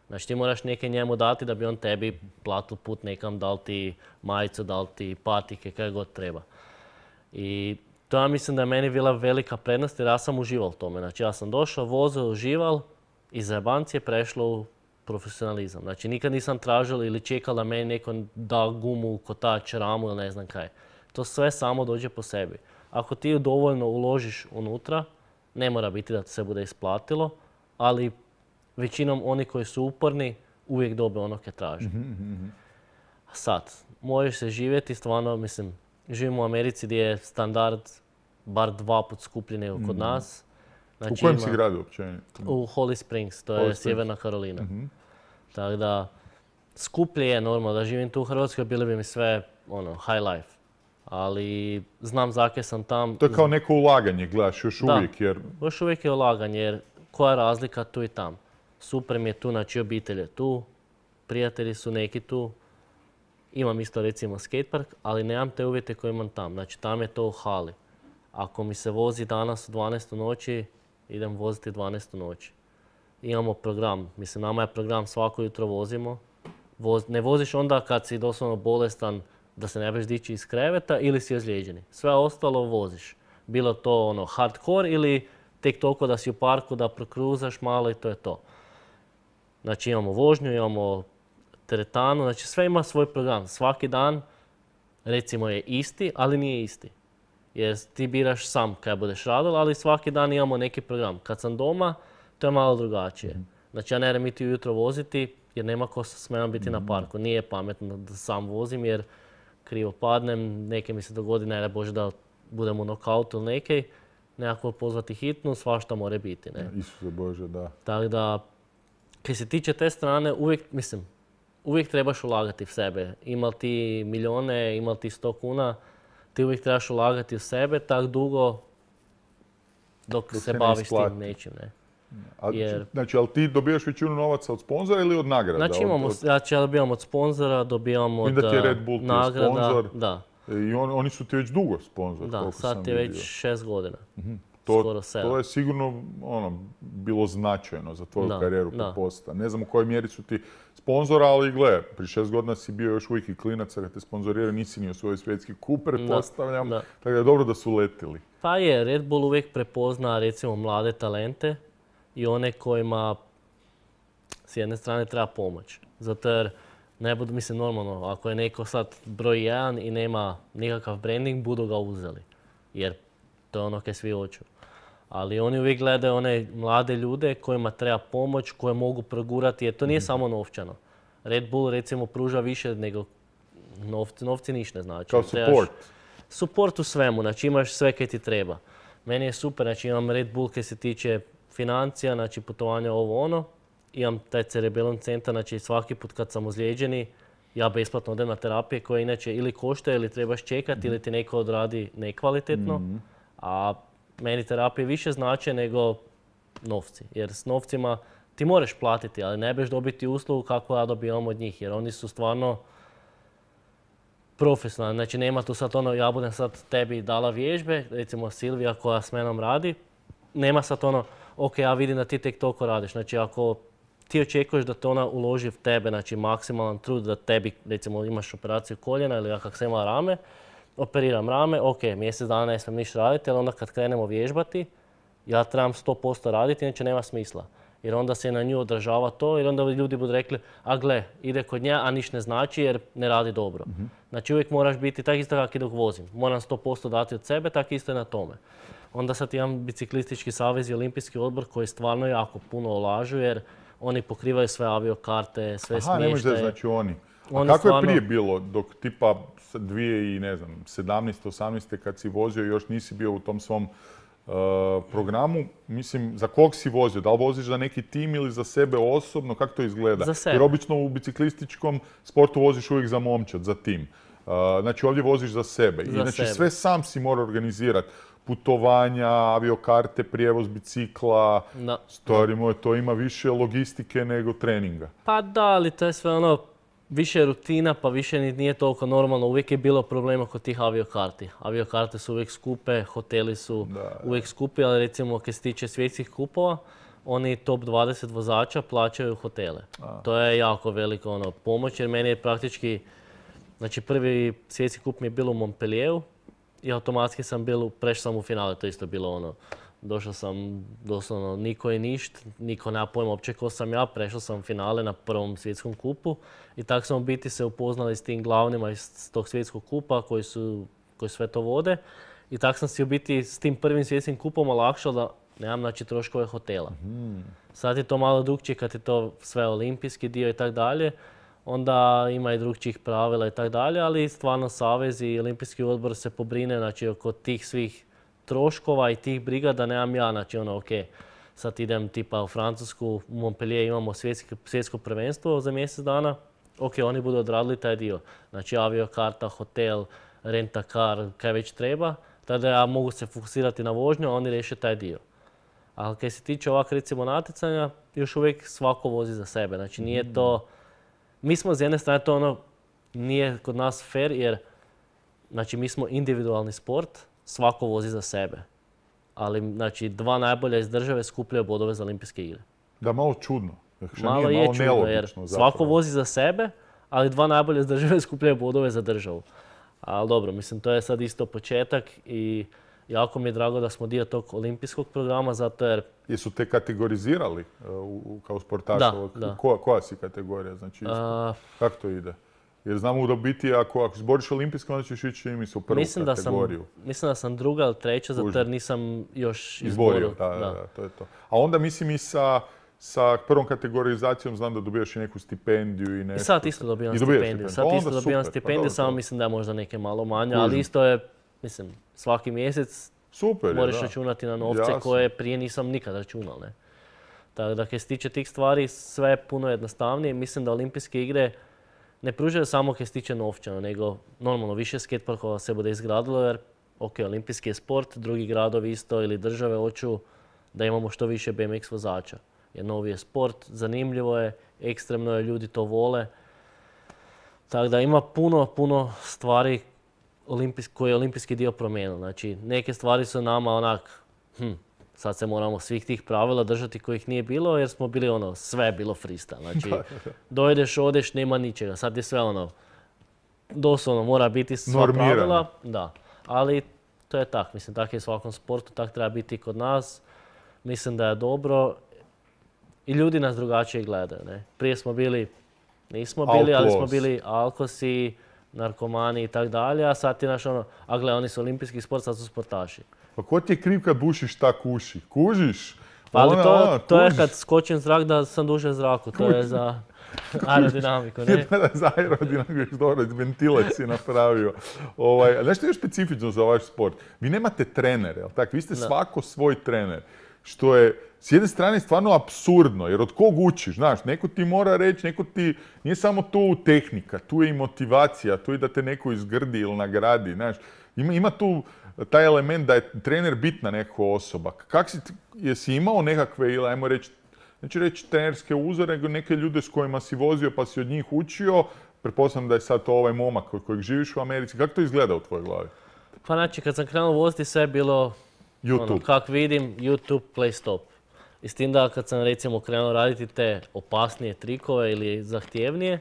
Znači, ti moraš neke njemu dati da bi on tebi platio put nekam, dal ti majicu, dal ti patike, kaj god treba. I to ja mislim da je meni bila velika prednost jer ja sam užival u tome. Znači, ja sam došao, vozio, užival i za jebanci je prešlo u profesionalizam. Znači, nikad nisam tražio ili čekao da meni neko da gumu, kotač, ramu ili ne znam kaj. To sve samo dođe po sebi. Ako ti dovoljno uložiš unutra, ne mora biti da ti se bude isplatilo, ali većinom oni koji su uporni uvijek dobe ono kaj traže. Sad, možeš se živjeti, stvarno, mislim, živimo u Americi gdje je standard bar 2 put skuplji nego kod nas. Znači, u kojem si gradu uopće? U Holly Springs, to je Sjeverna Karolina. Tako da, skuplje je normalno da živim tu u Hrvatskoj, bili bi mi sve high life. Ali znam zakaj sam tam. To je kao neko ulaganje, gledaš, još uvijek jer... Da, još uvijek je ulaganje jer koja je razlika tu i tam. Super mi je tu, znači obitelj je tu, prijatelji su neki tu. Imam isto recimo skatepark, ali nemam te uvjete koje imam tam. Znači tam je to u hali. Ako mi se vozi danas u 12 noći, idem voziti 12 noći. Imamo program, mislim nama je program svako jutro vozimo. Ne voziš onda kad si doslovno bolestan da se ne možeš dići iz kreveta ili si ozlijeđeni. Sve ostalo voziš. Bilo to hardcore ili tek toliko da si u parku, da prokruzaš malo i to je to. Znači imamo vožnju, imamo teretanu, znači sve ima svoj program. Svaki dan recimo je isti, ali nije isti. Jer ti biraš sam kaj budeš radil, ali svaki dan imamo neki program. Kad sam doma, to je malo drugačije. Znači ja ne idem iti ujutro voziti jer nema ko smem biti na parku. Nije pametno da sam vozim jer krivo padnem, neke mi se dogodi, ne Bože da budem u nokautu ili nekaj, nekako pozvati hitnu, svašta more biti. Ne? Isuse Bože, da. Tako da, kad se tiče te strane, uvijek trebaš ulagati u sebe. Imal ti milijone, imal ti 100 kuna, ti uvijek trebaš ulagati u sebe tak dugo dok se baviš s tim nečim. Ne? Znači, ali ti dobijaš većinu novaca od sponzora ili od nagrada? Znači ja dobijam od sponzora, dobijam od nagrada. Da ti je Red Bull nagrada, sponzor. da. I oni su ti već dugo sponzor. Da, sad je već 6 godina. Skoro 7. To je sigurno bilo značajno za tvoju karijeru, pretpostavljam. Ne znam u kojoj mjeri su ti sponzora, ali gle, prije 6 godina si bio još uvijek i klinac, kad te sponzoriraju, nisi ni osvojio svjetski kup, pretpostavljam. Tako da je dobro da su letili. Pa je, Red Bull uvijek prepozna recimo mlade talente i one kojima s jedne strane treba pomoć. Zato jer ne budu, mislim normalno, ako je neko sad broj 1 i nema nikakav branding, budu ga uzeli. Jer to je ono kaj svi hoću. Ali oni uvijek gledaju one mlade ljude kojima treba pomoć, koje mogu progurati, jer to nije samo novčano. Red Bull recimo pruža više nego novci ništa ne znači. Kao support. Support u svemu, znači imaš sve kaj ti treba. Meni je super, znači imam Red Bull kaj se tiče financija, znači putovanja ovo ono. Imam taj Cerebellum centar, znači svaki put kad sam ozlijeđeni, ja besplatno odem na terapije koje inače ili koštaju ili trebaš čekati ili ti neko odradi nekvalitetno. A meni terapije više znače nego novci. Jer s novcima ti moraš platiti, ali ne beš dobiti uslugu kako ja dobijam od njih. Jer oni su stvarno profesionalni. Znači nema tu sad ono, ja budem sad tebi dala vježbe, recimo Silvija koja s menom radi. Nema sad ono, ok, ja vidim da ti tek toliko radiš. Znači ako ti očekuješ da te ona uloži v tebe, znači maksimalan trud da tebi, recimo imaš operaciju koljena ili ja kak sam imala rame, operiram rame, ok, mjesec dana ne smijem ništa raditi, ali onda kad krenemo vježbati, ja trebam 100% raditi, inače nema smisla. Jer onda se na nju odražava to, jer onda ljudi budu rekli, a gle, ide kod nje, a niš ne znači jer ne radi dobro. Znači uvijek moraš biti tak isto kako i dok vozim. Moram 100% dati od sebe, tako isto i na tome. Onda sad imam Biciklistički savez i Olimpijski odbor koji stvarno jako puno ulažu jer oni pokrivaju sve aviokarte, sve smještaje. Ne možeš da znači oni. A kako je prije bilo dok tipa 2017. 18. kad si vozio i još nisi bio u tom svom programu, mislim, za kog si vozio? Da li voziš za neki tim ili za sebe osobno? Kako to izgleda? Za sebe. Jer obično u biciklističkom sportu voziš uvijek za momčad, za tim. Znači ovdje voziš za sebe. Znači sve sam si mora organizirati. Putovanja, aviokarte, prijevoz bicikla, stvari moje, to ima više logistike nego treninga. Pa da, ali to je sve ono, više rutina, pa više nije toliko normalno. Uvijek je bilo problema kod tih aviokarti. Aviokarte su uvijek skupe, hoteli su uvijek skupi, ali recimo kad se tiče svjetskih kupova, oni top 20 vozača plaćaju hotele. To je jako velika pomoć jer meni je praktički, znači prvi svjetski kup mi je bilo u Montpellieru i automatski sam prešao sam u finale, to isto bilo došao sam doslovno niko i ništ, niko nema pojma uopće ko sam ja, prešao sam finale na prvom svjetskom kupu i tako sam u biti se upoznali s tim glavnima iz tog svjetskog kupa koji sve to vode i tako sam si u biti s tim prvim svjetskim kupom olakšao da nemam znači troškove hotela. Sad je to malo drukčije kad je to sve olimpijski dio i tako dalje, onda ima i drugčijih pravila i tako dalje, ali stvarno Savez i Olimpijski odbor se pobrine znači, oko tih svih troškova i tih briga da nemam ja, znači ok, sad idem tipa u Francusku, u Montpellier imamo svjetsko prvenstvo za mjesec dana, ok, oni budu odradili taj dio, znači aviokarta, hotel, rent-a-car, kaj već treba, tada ja mogu se fokusirati na vožnju, a oni riješe taj dio. Ali kaj se tiče ovak recimo natjecanja, još uvijek svako vozi za sebe, znači nije to, mi smo s jedne strane to nije kod nas fair jer znači mi smo individualni sport, svako vozi za sebe. Ali znači dva najbolja iz države skupljaju bodove za olimpijske igre. Da, malo čudno. Malo je čudno jer svako vozi za sebe, ali dva najbolja iz države skupljaju bodove za državu. Ali dobro, mislim to je sad isto početak i jako mi je drago da smo dio tog olimpijskog programa zato jer... Jesu te kategorizirali kao sportaša? Da. Koja si kategorija? Znači, kako to ide? Jer znamo da biti, ako zboriš olimpijsko, onda ćeš ići u prvu kategoriju. Mislim da sam druga ili treća, zato jer nisam još izborio. Da, to je to. A onda mislim i sa prvom kategorizacijom znam da dobijaš i neku stipendiju i nešto. I sad isto dobijam stipendiju. Samo mislim da je možda neke malo manje, ali isto je, mislim, svaki mjesec moraš računati na novce koje prije nisam nikad računal. Tako da, kad se tiče tih stvari, sve je puno jednostavnije. Mislim da olimpijske igre ne pružaju samo kaj se tiče novčano, nego normalno više skateparkova se bude izgradilo jer ok, olimpijski je sport, drugi gradovi isto ili države hoću da imamo što više BMX vozača. Jer novi je sport, zanimljivo je, ekstremno je, ljudi to vole. Tako da ima puno stvari koje je olimpijski dio promijenio. Znači, neke stvari su nama onak, sad se moramo svih tih pravila držati kojih nije bilo, jer smo bili sve je bilo freestyle. Znači, dojdeš, odeš, nema ničega. Sad je sve doslovno mora biti sva pravila. Da, ali to je tak. Mislim, tak je u svakom sportu, tak treba biti i kod nas. Mislim da je dobro. I ljudi nas drugačije gledaju. Ne? Prije smo bili, nismo bili, ali smo bili alkosi, narkomani i tak dalje, a sad ti a gle, oni su olimpijski sport, sad su sportaši. Pa ko ti je kriv kad bušiš tak uši? Kužiš? Ali to je kad skočim zrak da sam duže u zraku, to je za aerodinamiku, ne? Da, za aerodinamiku, dobro, ventile si napravio. Znaš što je još specifično za vaš sport? Vi nemate trenere, jel tak? Vi ste svako svoj trener. Što je s jedne strane stvarno apsurdno, jer od kog učiš, znaš, neko ti mora reći, nije samo tu tehnika, tu je i motivacija, tu je da te neko izgrdi ili nagradi, znaš. Ima tu taj element da je trener bitna neka osoba. Jesi imao nekakve, ili ajmo reći, neću reći trenerske uzore, nego neke ljude s kojima si vozio pa si od njih učio, pretpostavljam da je sad to ovaj momak kojeg živiš u Americi. Kako to izgleda u tvojoj glavi? Pa znači, kad sam krenuo voziti, sve je bilo YouTube. Kak vidim, YouTube, play stop. I s tim da kad sam recimo krenuo raditi te opasnije trikove ili zahtjevnije,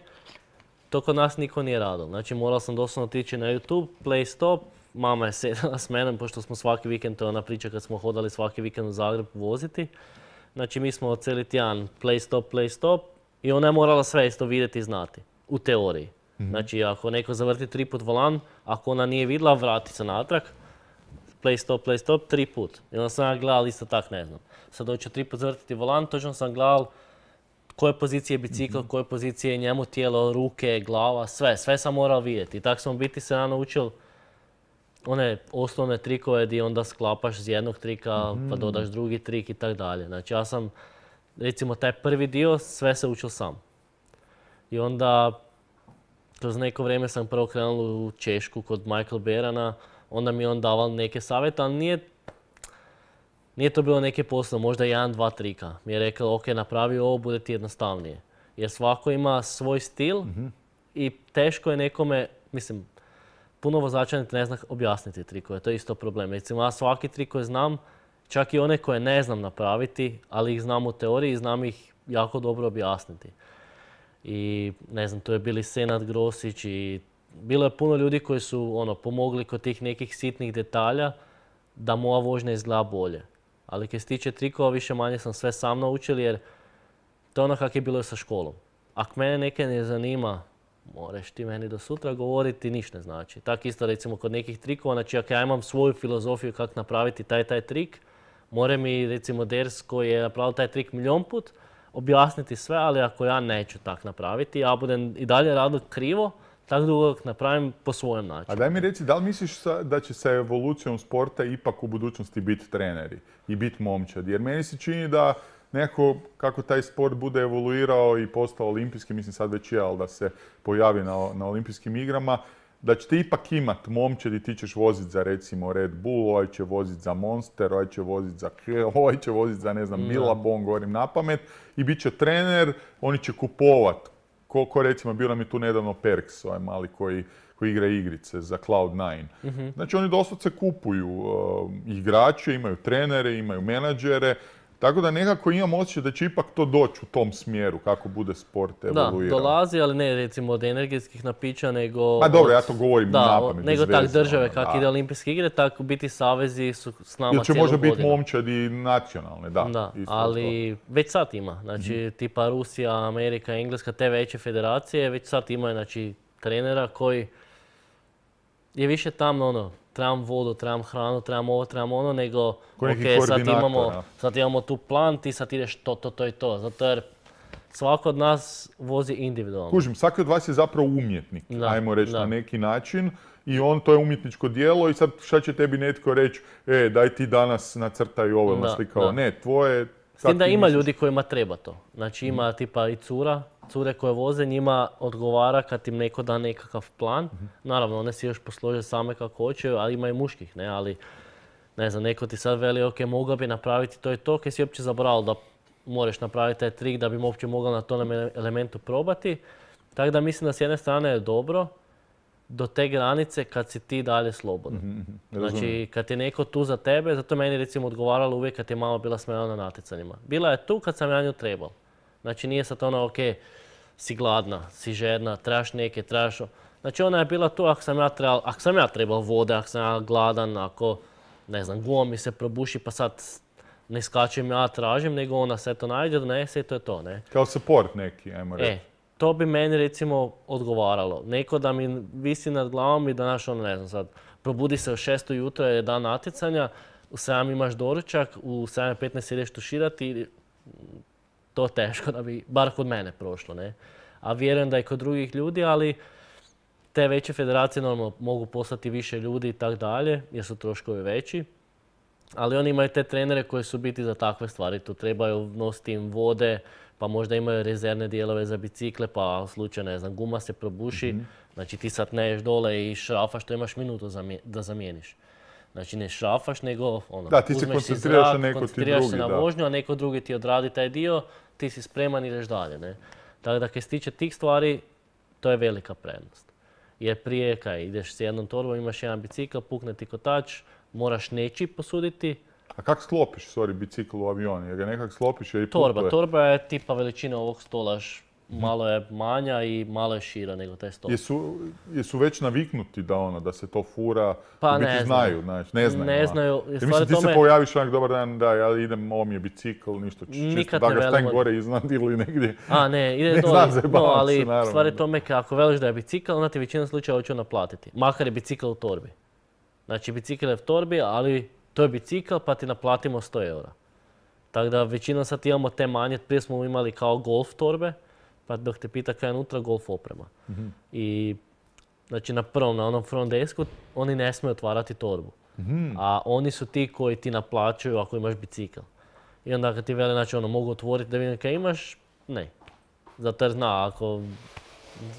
to kod nas niko nije radil. Znači morao sam doslovno otići na YouTube, play stop, mama je sedala s menom, pošto smo svaki vikend, to je ona priča kad smo hodali svaki vikend u Zagreb voziti. Znači mi smo cijeli tjedan play stop i ona je morala sve isto vidjeti i znati, u teoriji. Znači ako neko zavrti 3 put volan, ako ona nije vidjela, vrati se natrag, play stop, 3 put. I onda sam ja gledal isto tak, ne znam. Sad doću 3 put zavrtiti volan, točno sam gledal koje pozicije je bicikl, koje pozicije je njemu tijelo, ruke, glava, sve sam morao vidjeti. I tako sam biti se ja naučil one osnovne trikove gdje onda sklapaš iz jednog trika, pa dodaš drugi trik i tako dalje. Znači ja sam, recimo taj prvi dio, sve se učil sam. I onda, kroz neko vrijeme sam prvo krenul u Češku kod Michael Berana, onda mi je on daval neke savjete, ali nije to bilo neke poslovne, možda 1, 2 trika. Mi je rekao, ok, napravi ovo, bude ti jednostavnije. Jer svako ima svoj stil i teško je nekome, mislim, puno vozača ne zna objasniti trikove, to je isto problem. Recimo, ja svaki trik koji znam, čak i one koje ne znam napraviti, ali ih znam u teoriji i znam ih jako dobro objasniti. I ne znam, to je bili Senad Grosić i bilo je puno ljudi koji su pomogli kod tih nekih sitnih detalja da moja vožnja izgleda bolje. Ali kad se tiče trikova, više manje sam sve sam naučil jer to je ono kako je bilo sa školom. Ako mene neke ne zanima, moraš ti meni do sutra govoriti, ništa ne znači. Tako isto recimo kod nekih trikova, znači ako ja imam svoju filozofiju kako napraviti taj trik, mora mi recimo Ders koji je napravio taj trik milion put objasniti sve, ali ako ja neću tak napraviti, ja budem i dalje raditi krivo, tako dugo napravim po svojem načinu. A daj mi reci, da li misliš da će sa evolucijom sporta ipak u budućnosti biti treneri i biti momčad? Jer meni se čini da nekako kako taj sport bude evoluirao i postao olimpijski, mislim sad već je, ali da se pojavi na olimpijskim igrama, da ćete ipak imat momčad i ti ćeš voziti za recimo Red Bull, ovaj će voziti za Monster, ovaj će voziti za ovaj će voziti za ne znam Billabong, govorim na pamet, i bit će trener, oni će kupovat. Ko recimo, bio nam je tu nedavno Perks, ovaj mali koji igra igrice za Cloud9. Znači oni doslovce kupuju igrače, imaju trenere, imaju menadžere, tako da nekako imam osjećaj da će ipak to doći u tom smjeru kako bude sport evoluirao. Da, dolazi, ali ne recimo od energetskih napića, nego... Ma dobro, ja to govorim napamet. Nego tak države, kako ide olimpijske igre, tako biti savezi su s nama cijelu godinu. Ili će možda biti momčad i nacionalne, da. Da, ali već sad ima. Znači, tipa Rusija, Amerika, Engleska, te veće federacije, već sad imaju, znači, trenera koji je više tam, trebam vodu, trebam hranu, trebam ovo, trebam ono, nego ok, sad imamo tu plan, ti sad ideš to i to. Zato jer svako od nas vozi individualno. Kužim, svaki od vas je zapravo umjetnik, ajmo reći na neki način. I to je umjetničko djelo i sad šta će tebi netko reći, daj ti danas nacrtaj ovo, naslikao. Ne, tvoje... S tim da ima ljudi kojima treba to. Znači ima tipa i cure koje voze, njima odgovara kad im neko da nekakav plan. Naravno, one si još poslože same kako hoće, ali ima i muških, ne, ali ne znam, neko ti sad veli, ok, mogao bi napraviti to i to, kaj si uopće zaboravio da moraš napraviti taj trik da bi uopće mogao na tom elementu probati. Tako da mislim da s jedne strane je dobro do te granice kad si ti dalje slobodan. Znači, kad je neko tu za tebe, zato meni recimo odgovaralo uvijek kad je mama bila smjela na natjecanjima. Bila je tu kad sam ja nju trebao. Znači, nije sad ono, ok, si gladna, si žedna, trebaš neke, trebaš... Znači, ona je bila tu ako sam ja trebao vode, ako sam ja gladan, ako, ne znam, guma mi se probuši pa sad ne skačem ja tražim, nego ona se to najde, donese i to je to, ne? Kao support neki, ajmo reći. To bi meni recimo odgovaralo. Neko da mi visi nad glavom i da naš ono, ne znam sad, probudi se u 6 ujutro je dan natjecanja, u 7 imaš doručak, u 7:15 ideš tuširati, to teško da bi, bar kod mene prošlo, ne? A vjerujem da i kod drugih ljudi, ali te veće federacije normalno mogu poslati više ljudi i tak dalje, jer su troškovi veći. Ali oni imaju te trenere koji su biti za takve stvari. Tu trebaju nositi im vode, pa možda imaju rezervne dijelove za bicikle, pa u slučaju, ne znam, guma se probuši. Znači ti sad ne ješ dole i šrafaš, to imaš minutu da zamijeniš. Znači ne šrafaš, nego ono, da, ti se koncentriraš na neko ti drugi. Koncentriraš se na vožnju, a neko drugi ti odradi taj dio, ti si spreman i ideš dalje. Ne? Tako da kad se tiče tih stvari, to je velika prednost. Jer prije kaj ideš s jednom torbom, imaš jedan bicikl, pukne ti kotač, moraš nečiji posuditi. A kako sklopiš, bicikl u avion? Jer ga nekak sklopiš jer i putuje? Torba je tipa veličina ovog stola, malo je manja i malo je šira nego taj stol. Jesu već naviknuti da se to fura? Pa ne znaju. Znači, ne znaju. Ne znaju. Mislim, ti se pojaviš onak, dobar dan, da, ja idem, ovo mi je bicikl, ništa, čisto da ga stavim gore iznad ili negdje. Ne, ide dole. No, ali stvar je tome ako veliš da je bicikl, onda ti većina slučaja hoću naplatiti. Makar je bicikl u torbi. Znači, bicikl je u torbi, ali to je bicikl pa ti naplatimo 100 eura. Tako da većinom sad imamo te manje, prije smo imali kao golf torbe, pa dok te pita kaj je unutra, golf oprema. I znači na onom front desku, oni ne smiju otvarati torbu. A oni su ti koji ti naplaćuju ako imaš bicikl. I onda kad ti vele, znači mogu otvoriti da vidim kaj imaš, ne. Zato jer zna, ako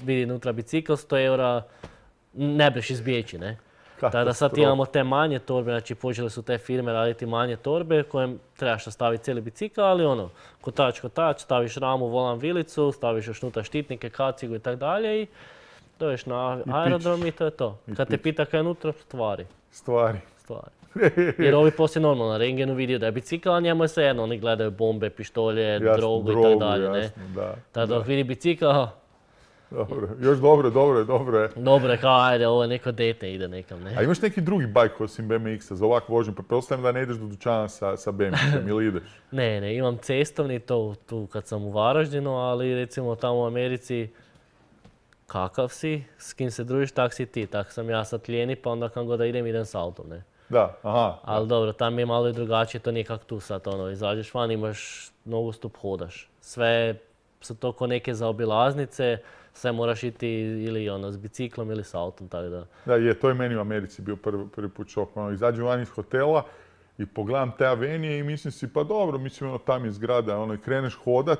vidi unutra bicikl, 100 eura ne breš izbjeći, ne. Tako da sad imamo te manje torbe, znači počele su te firme raditi manje torbe kojem trebaš staviti cijeli bicikl, ali kotač, staviš ramu, volan, vilicu, staviš još unutra štitnike, kacigu i tako dalje i dođeš na aerodrom i to je to. Kad te pita kaj je unutra, stvari. Jer ovi poslije normalno na rengenu vidio da je bicikl, a njemu je svejedno, oni gledaju bombe, pištolje, drogu i tako dalje. Tako da dok vidi bicikl, dobro, još dobro je. Dobro je, kao ajde, ovo je neko dete ide nekam, ne. A imaš neki drugi bajk osim BMX-a za ovakvu vožnju? Pretpostavljam da ne ideš do dućana sa BMX-om ili ideš? Ne, imam cestovni to tu kad sam u Varaždinu, ali recimo tamo u Americi kakav si, s kim se družiš, tak si ti. Tak sam ja sad lijeni, pa onda kam god da idem s autom, ne. Da, aha. Ali dobro, tam je malo i drugačije, to nije kak tu sad, izađeš van, imaš nogostup, hodaš. Sve su to ko neke zaobilaznice, sve moraš iti ili s biciklom ili s autom, tako da. Da, to je meni u Americi bio prvi put šok. Izađem van iz hotela i pogledam te avenije i mislim si, pa dobro, mislim, tam je zgrada, i kreneš hodaš,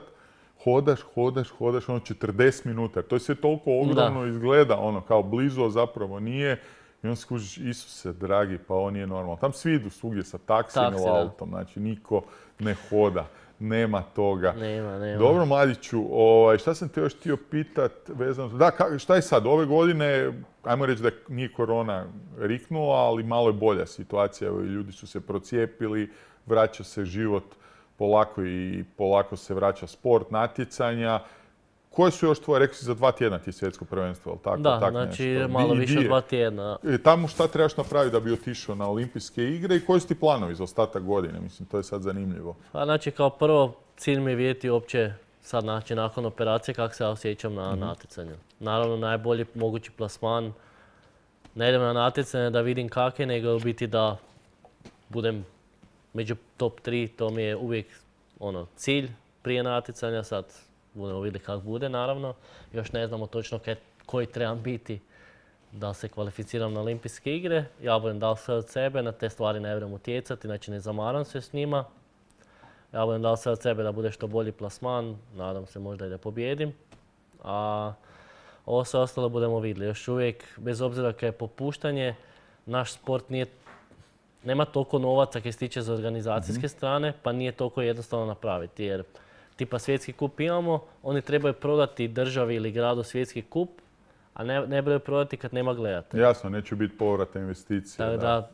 40 minuta. To je sve toliko ogromno izgleda, kao blizu, a zapravo nije. I onda skužiš, Isuse, dragi, pa ovo nije normalno. Tam svi idu svugdje sa taksijem ili autom, znači niko ne hoda. Nema toga. Nema. Dobro, Mladiću, šta sam te još htio pitat vezano... Da, šta je sad? Ove godine, ajmo reći da nije korona riknula, ali malo je bolja situacija. Ljudi su se procijepili, vraća se život polako i polako se vraća sport, natjecanja. Koje su još tvoje, rekli si za 2 tjedna ti svjetsko prvenstvo, ali tako? Da, znači malo više od 2 tjedna. Tamo šta trebaš napraviti da bi otišao na olimpijske igre i koji su ti planovi za ostatak godine? Mislim, to je sad zanimljivo. Pa znači kao prvo cilj mi je vidjeti uopće sad znači nakon operacije kako se ja osjećam na natjecanju. Naravno najbolji mogući plasman. Ne idem na natjecanje da vidim kak je, nego u biti da budem među top 3, to mi je uvijek cilj prije natjecanja, sad budemo vidjeti kako bude, naravno. Još ne znamo točno koji trebam biti da se kvalificiram na olimpijske igre. Ja budem dao sve od sebe, na te stvari ne vjerujem utjecati, znači ne zamaram se s njima. Ja budem dao sve od sebe da bude što bolji plasman, nadam se možda i da pobjedim. A ovo sve ostalo budemo vidjeli. Još uvijek, bez obzira kad je popuštanje, naš sport nije nema toliko novaca kaj se tiče za organizacijske strane, pa nije toliko jednostavno napraviti. Jer tipa svjetski kup imamo, oni trebaju prodati državi ili gradu svjetski kup, a ne trebaju prodati kad nema gledatelja. Jasno, neće biti povrata investicije. Tako da,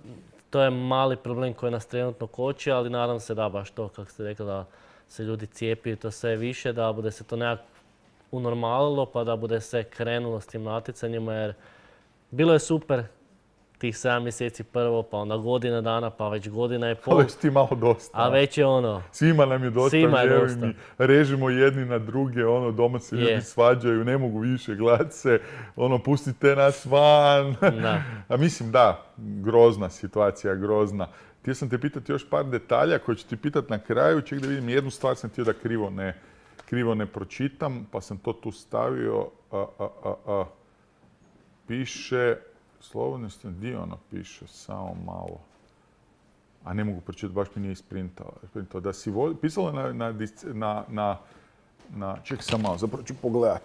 to je mali problem koji nas trenutno koči, ali nadam se da baš to, kako ste rekli, da se ljudi cijepi to sve više, da bude se to nekako unormalilo, pa da bude se krenulo s tim natjecanjima, jer bilo je super tih 7 mjeseci prvo, pa onda godina dana, pa već godina i pol. Ali već ti malo dosta. A već je ono... Svima nam je dosta, Svima je vjeruj dosta. mi. Režimo jedni na druge, doma se ljudi svađaju, ne mogu više gledati se, pustite nas van. Da. A mislim, da, grozna situacija, grozna. Htio sam te pitati još par detalja koje ću ti pitati na kraju. Ček da vidim, jednu stvar sam htio da krivo ne pročitam, pa sam to tu stavio. Piše, slobodno ste, gdje piše, samo malo. A ne mogu pročitati, baš mi nije isprintao. Da si pisalo na ček sam malo, zapravo ću pogledat.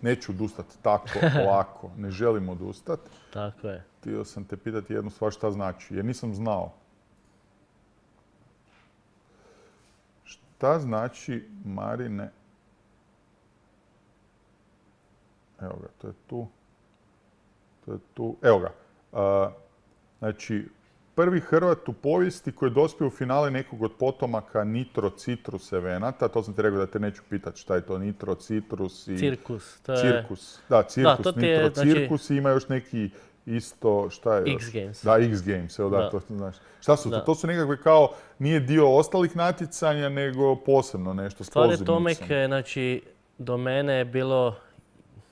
Neću odustati tako, lako, ne želim odustati. Tako je. Htio sam te pitati jednu stvar šta znači, jer nisam znao. Šta znači, Marine? Evo ga, to je tu. Evo ga. Znači, prvi Hrvat u povijesti koji je dospio u finale nekog od potomaka Nitro Citrus evenata. To sam ti rekao da te neću pitati šta je to Nitro Citrus i... Cirkus. Cirkus. Da, Cirkus, Nitro Cirkus i ima još neki isto, šta je još? X Games. Da, X Games, evo da, to znaš. Šta su to? To su nekakve kao, nije dio ostalih natjecanja, nego posebno nešto s pozivnicom. Stvar je Tomek, znači, do mene je bilo,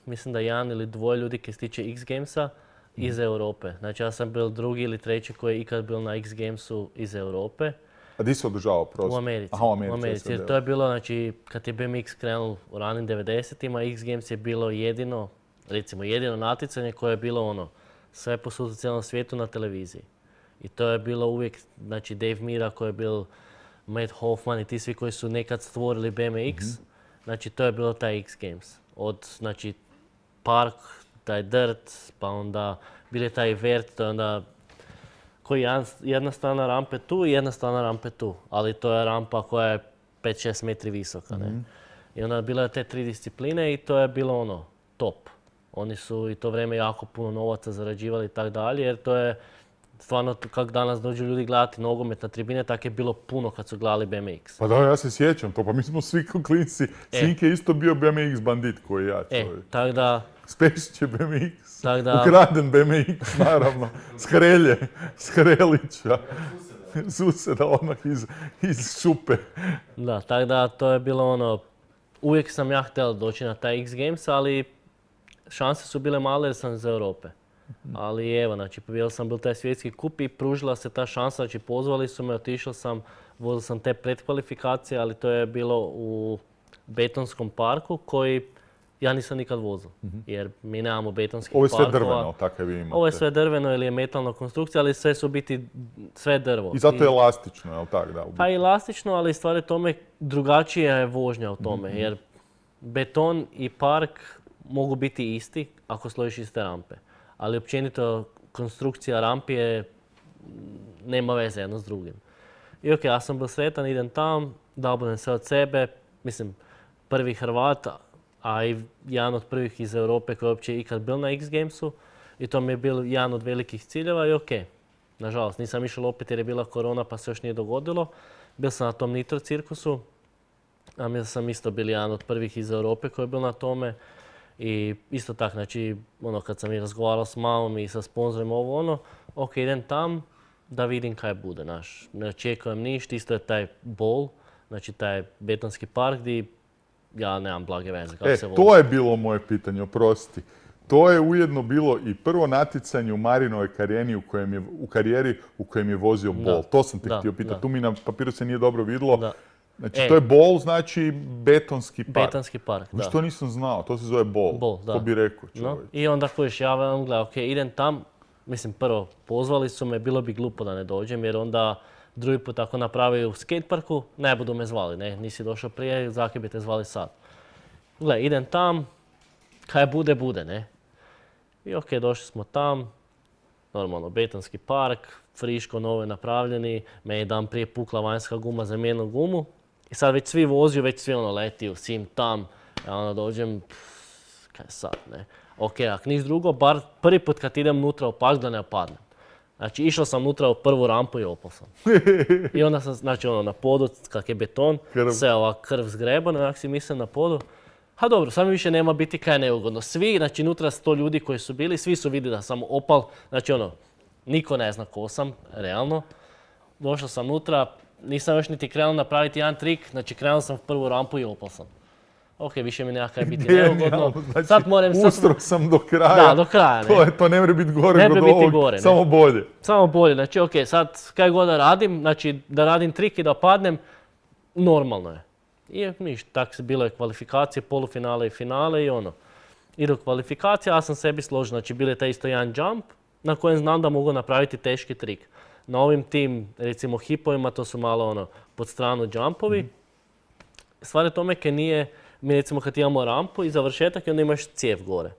mislim da 1 ili 2 ljudi koji se tiče X Gamesa iz Europe. Znači, ja sam bil 2. ili 3. koji je ikad bil na X Gamesu iz Europe. A di se održavao prosto? U Americi. Aha, u Americi. Jer to je bilo, znači, kad je BMX krenul u ranim 90-ima, X Games je bilo jedino natjecanje koje je bilo sve posud u cijelom svijetu na televiziji. I to je bilo uvijek, znači Dave Mira koji je bil Matt Hoffman i ti svi koji su nekad stvorili BMX, znači to je bilo taj X Games. Znači, park, taj dirt, pa onda bili taj vert, to je onda koji jedna strana rampe tu i jedna strana rampe tu. Ali to je rampa koja je 5-6 metri visoka. Ne? I onda je bilo te 3 discipline i to je bilo top. Oni su i to vrijeme jako puno novaca zarađivali i tako dalje, jer to je stvarno kako danas dođu ljudi gledati nogomet na tribine, tako je bilo puno kad su gledali BMX. Pa da, ja se sjećam to, pa mi smo svi klinci. Sinke je isto bio BMX bandit koji ja čovjek. Tako da... Spešić je BMX, ukraden BMX, naravno, s Hrelića. Suseda odmah iz šupe. Da, tako da to je bilo uvijek sam ja htio doći na taj X Games, ali šanse su bile male jer sam iz Europe. Ali evo, znači, pobijel sam bil taj svjetski kup i pružila se ta šansa, znači pozvali su me, otišao sam, vozio sam te predkvalifikacije, ali to je bilo u betonskom parku koji ja nisam nikad vozio, jer mi nemamo betonskih parkova. Ovo je sve drveno, takav vi imate. Ovo je sve drveno ili je metalna konstrukcija, ali sve su biti sve drvo. I zato je elastično, je li tako? Da, pa elastično, ali stvar je tome drugačija je vožnja u tome, jer beton i park mogu biti isti ako složiš iste rampe. Ali općenito konstrukcija rampi nema veze jedno s drugim. I ok, ja sam bio sretan, idem tam, dao budem sve od sebe, mislim, prvi Hrvat, a i jedan od prvih iz Europe koji je uopće ikad bil na X Gamesu. I to mi je bil jedan od velikih ciljeva i ok. Nažalost, nisam išao opet jer je bila korona pa se još nije dogodilo. Bil sam na tom Nitro cirkusu, a mislim sam isto bil jedan od prvih iz Europe koji je bil na tome. I isto tako, znači, kad sam i razgovarao s mamom i sa sponzorima ok, idem tam da vidim kaj bude, ne očekujem ništa, isto je taj bowl, znači taj betonski park gdje ja nemam blage veze kako se vozi. To je bilo moje pitanje, oprosti. To je ujedno bilo i prvo natjecanje u Marinovoj karijeri u kojem je vozio bowl. To sam te htio pitati, tu mi na papiru se nije dobro vidjelo. Znači, to je bowl, znači betonski park. Betonski park, da. Što nisam znao, to se zove bowl. Bowl, da. To bi rekao čovječ. I onda kojiš, ja vam gledam, ok, idem tam. Mislim, prvo, pozvali su me, bilo bi glupo da ne dođem, jer onda drugi put ako napravi u skateparku, ne budu me zvali, ne, nisi došao prije, zakaj bi te zvali sad. Gle, idem tam, kaj bude, ne. I ok, došli smo tam, normalno, betonski park, friško, novo napravljeni, meni je dan prije pukla vanjska guma, zamijenila gumu. I sad već svi voziju, već svi leti u sim tam, ja dođem, kaj sad, ne. Ok, ako niš drugo, bar prvi put kad idem nutra u park da ne padnem. Znači, išao sam nutra u prvu rampu i opao sam. I onda sam, znači na podu, kak je beton, sve ova krv zgrebana, onak si mislim na podu. Ha dobro, samo više nema biti kaj neugodno. Svi, znači nutra 100 ljudi koji su bili, svi su vidjeli da sam opal, znači niko ne zna ko sam, realno. Došao sam nutra, nisam još niti krenuo napraviti jedan trik, znači krenuo sam u prvu rampu i opal sam. Ok, više mi nema kaj biti neugodno. Znači, sad moram... ustro sam do kraja. Da, do kraja, ne. To ne mora biti gore od ovog, samo bolje. Samo bolje, znači ok, sad kaj god da radim, znači da radim trik i da padnem, normalno je. I ništa, tako se bilo je kvalifikacije, polufinale i finale i Idu kvalifikacije, ja sam sebi složio, znači bilo je taj isto jedan jump na kojem znam da mogu napraviti teški trik. Na ovim tim, recimo, hipovima, to su malo pod stranu jumpovi. Stvar je tome kaj nije, mi recimo kad imamo rampu i završetak i onda imaš cijev gore.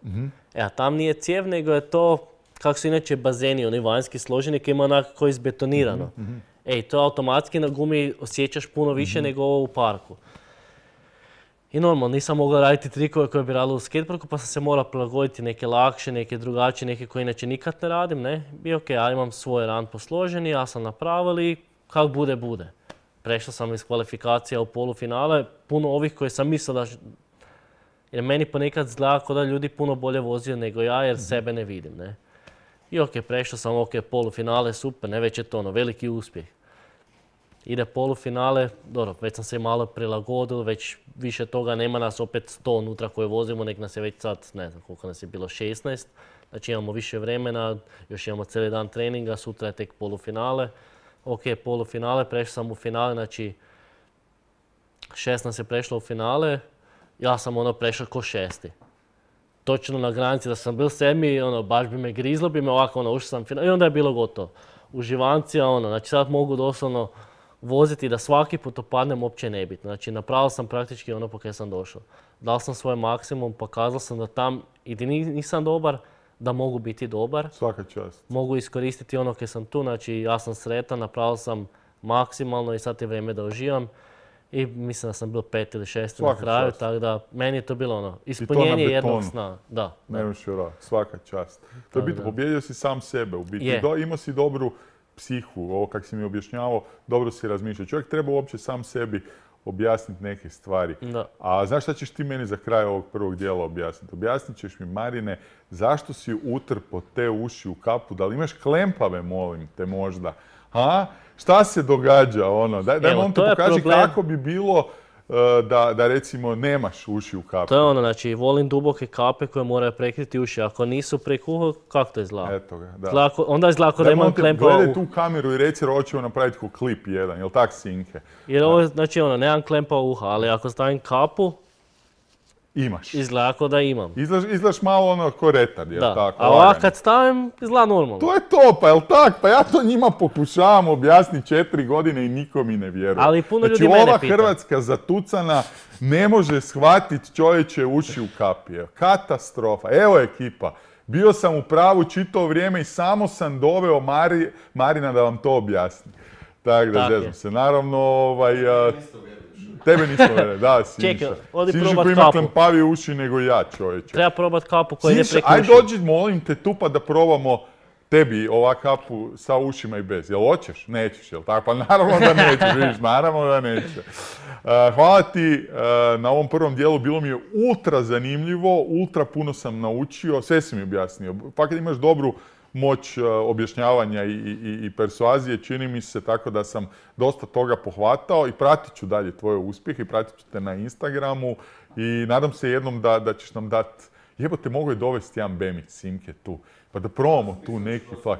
A tam nije cijev, nego je to, kako su inače bazeni, oni vanjski složeni, koji ima onako izbetonirano. To automatski na gumi osjećaš puno više nego ovo u parku. I normalno, nisam mogao raditi trikove koje bi radili u skateparku, pa sam se morao prilagoditi neke lakše, neke drugačije, neke koje inače nikad ne radim, ne. I ok, ja imam svoj run posloženi, ja sam napravili i kak bude, bude. Prešao sam iz kvalifikacija u polufinale, puno ovih koje sam mislio da... Jer meni ponekad izgleda kao da ljudi puno bolje vozio nego ja, jer sebe ne vidim, ne. I ok, prešao sam, ok, polufinale, super, ne, već je to veliki uspjeh. Ide polufinale, dobro, već sam se malo prilagodil, već više toga nema nas opet 100 unutra koje vozimo, nek nas je već sad, ne znam koliko nas je bilo, 16. Znači imamo više vremena, još imamo cijeli dan treninga, sutra je tek polufinale. Ok, polufinale, prešao sam u finale, znači 6 nas je prešlo u finale, ja sam prešao ko 6. Točno na granici da sam bil 7, baš bi me grizlo, bi me ovako, ušao sam finale i onda je bilo gotovo. Uživancija, znači sad mogu doslovno voziti da svaki put opadnem uopće nebitno. Znači napravio sam praktički po kaj sam došao. Dao sam svoj maksimum, pokazao sam da tam i nisam dobar, da mogu biti dobar. Svaka čast. Mogu iskoristiti kaj sam tu, znači ja sam sretan, napravio sam maksimalno i sad je vrijeme da uživam. I mislim da sam bil 5 ili 6 na kraju, tako da meni je to bilo ispunjenje jednog sna. Da. Nemaš jura, svaka čast. To je bitno, pobjedio si sam sebe u biti. Imao si dobru psihu, ovo kak si mi objašnjavao, dobro si razmišljao. Čovjek treba uopće sam sebi objasniti neke stvari. Da. A znaš šta ćeš ti meni za kraj ovog prvog dijela objasniti? Objasnit ćeš mi, Marine, zašto si utrpo te uši u kapu? Da li imaš klempave, molim te, možda? Šta se događa? Daj on ti pokaži kako bi bilo da recimo nemaš uši u kapi. To je znači volim duboke kape koje moraju prekriti uši. Ako nisu preko, kako to izgleda? Eto ga, da. Onda izgleda da imam klempava. Gledaj tu kameru i reci hoćemo napraviti ko klip jedan, jel tak, Sinke? Jer ovo, znači nemam klempava uha, ali ako stavim kapu, imaš. Izgleda kao da imam. Izgledaš malo ko retard, jel tako? A ovako kad stavim, izgleda normalno. To je to, pa jel tak? Pa ja to njima pokušavam objasniti 4 godine i niko mi ne vjeruje. Ali puno ljudi mene pita. Znači ova Hrvatska zatucana ne može shvatiti čovječe uši u kapi. Katastrofa. Evo ekipa. Bio sam u pravu čitavo vrijeme i samo sam doveo Marina da vam to objasni. Tako da zezam se. Naravno, tebe nismo vjerili, da, Sinša. Čekaj, odi Sinša probat koji kapu. ima klempavije uši nego ja, čovječe. Treba probat kapu koja ide preko uši. Aj dođi, molim te, tu pa da probamo tebi ova kapu sa ušima i bez. Jel hoćeš? Nećeš, jel tako? Pa naravno da nećeš, vidiš, naravno da neće. Hvala ti na ovom prvom dijelu, bilo mi je ultra zanimljivo, ultra puno sam naučio, sve si mi objasnio. Pa kad imaš dobru moć objašnjavanja i persuazije, čini mi se, tako da sam dosta toga pohvatao i pratit ću dalje tvoje uspjehe i pratit ću te na Instagramu i nadam se jednom da ćeš nam dati, jebote, mogu je dovesti jedan bemić, Simke, tu, pa da probamo tu neki fak.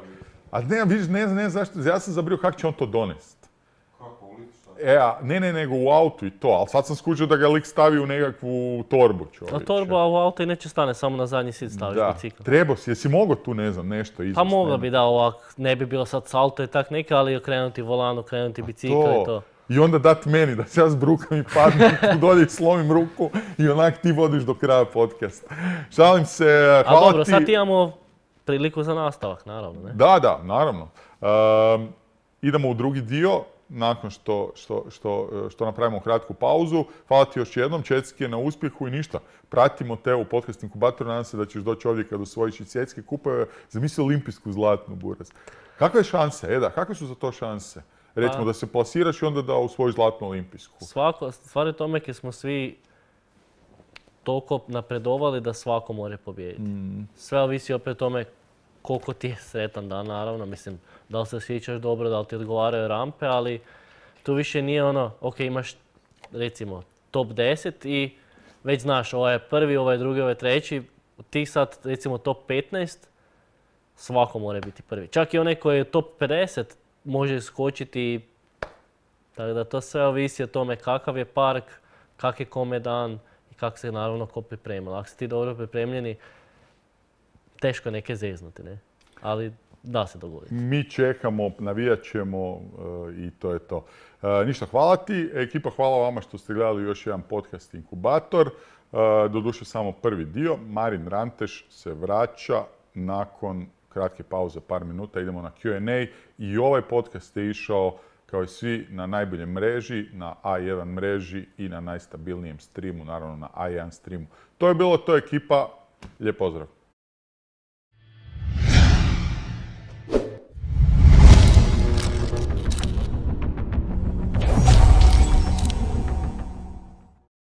A ne, vidiš, ne zašto, ja sam zabrio kako će on to donest. Kako, u licu? Nego u autu i to, ali sad sam skužio da ga lik stavi u nekakvu torbu, čovječe. Na torbu, a u auto i neće stane, samo na zadnji sit staviš bicikl. Trebao si, jesi mogao tu, ne znam, nešto izvesti? Pa mogla bi da ovak, ne bi bilo sad salto i tak neka, ali okrenuti volan, okrenuti bicikl i to. I onda dat meni da se ja zbrukam i padnem tu dolje i slomim ruku i onak ti vodiš do kraja podcast. Šalim se, hvala ti. A dobro, sad imamo priliku za nastavak, naravno. Ne? Da, naravno. Idemo u drugi dio, nakon što napravimo kratku pauzu. Hvala ti još jednom, čestitke na uspjehu i ništa. Pratimo te u podcast inkubatoru, nadam se da ćeš doći ovdje kad osvojiš i svjetske kupove. Zamisli olimpijsku zlatnu, Buraz. Kakve šanse, Eda, kakve su za to šanse? Recimo da se plasiraš i onda da osvojiš zlatnu olimpijsku. Stvar je tome jer smo svi toliko napredovali da svako može pobijediti. Sve ovisi opet o tome koliko ti je sretan dan, naravno. Mislim, da li se osjećaš dobro, da li ti odgovaraju rampe, ali tu više nije ono, ok, imaš recimo top 10 i već znaš, ovaj je prvi, ovaj je drugi, ovaj je treći. Ti sad, recimo top 15, svako mora biti prvi. Čak i onaj koji je top 50 može skočiti. Tako da to sve ovisi o tome kakav je park, kak je kome dan i kako se naravno ko priprema. Ako si ti dobro pripremljeni, teško je neke zeznuti, ne? Ali da se dogoditi. Mi čekamo, navijat ćemo i to je to. Ništa, hvala ti. Ekipa, hvala vama što ste gledali još jedan podcast Inkubator. Doduše samo prvi dio. Marin Ranteš se vraća nakon kratke pauze, par minuta. Idemo na Q&A i ovaj podcast je išao kao i svi na najboljem mreži, na A1 mreži i na najstabilnijem streamu, naravno na A1 streamu. To je bilo, to je ekipa. Lijep pozdrav.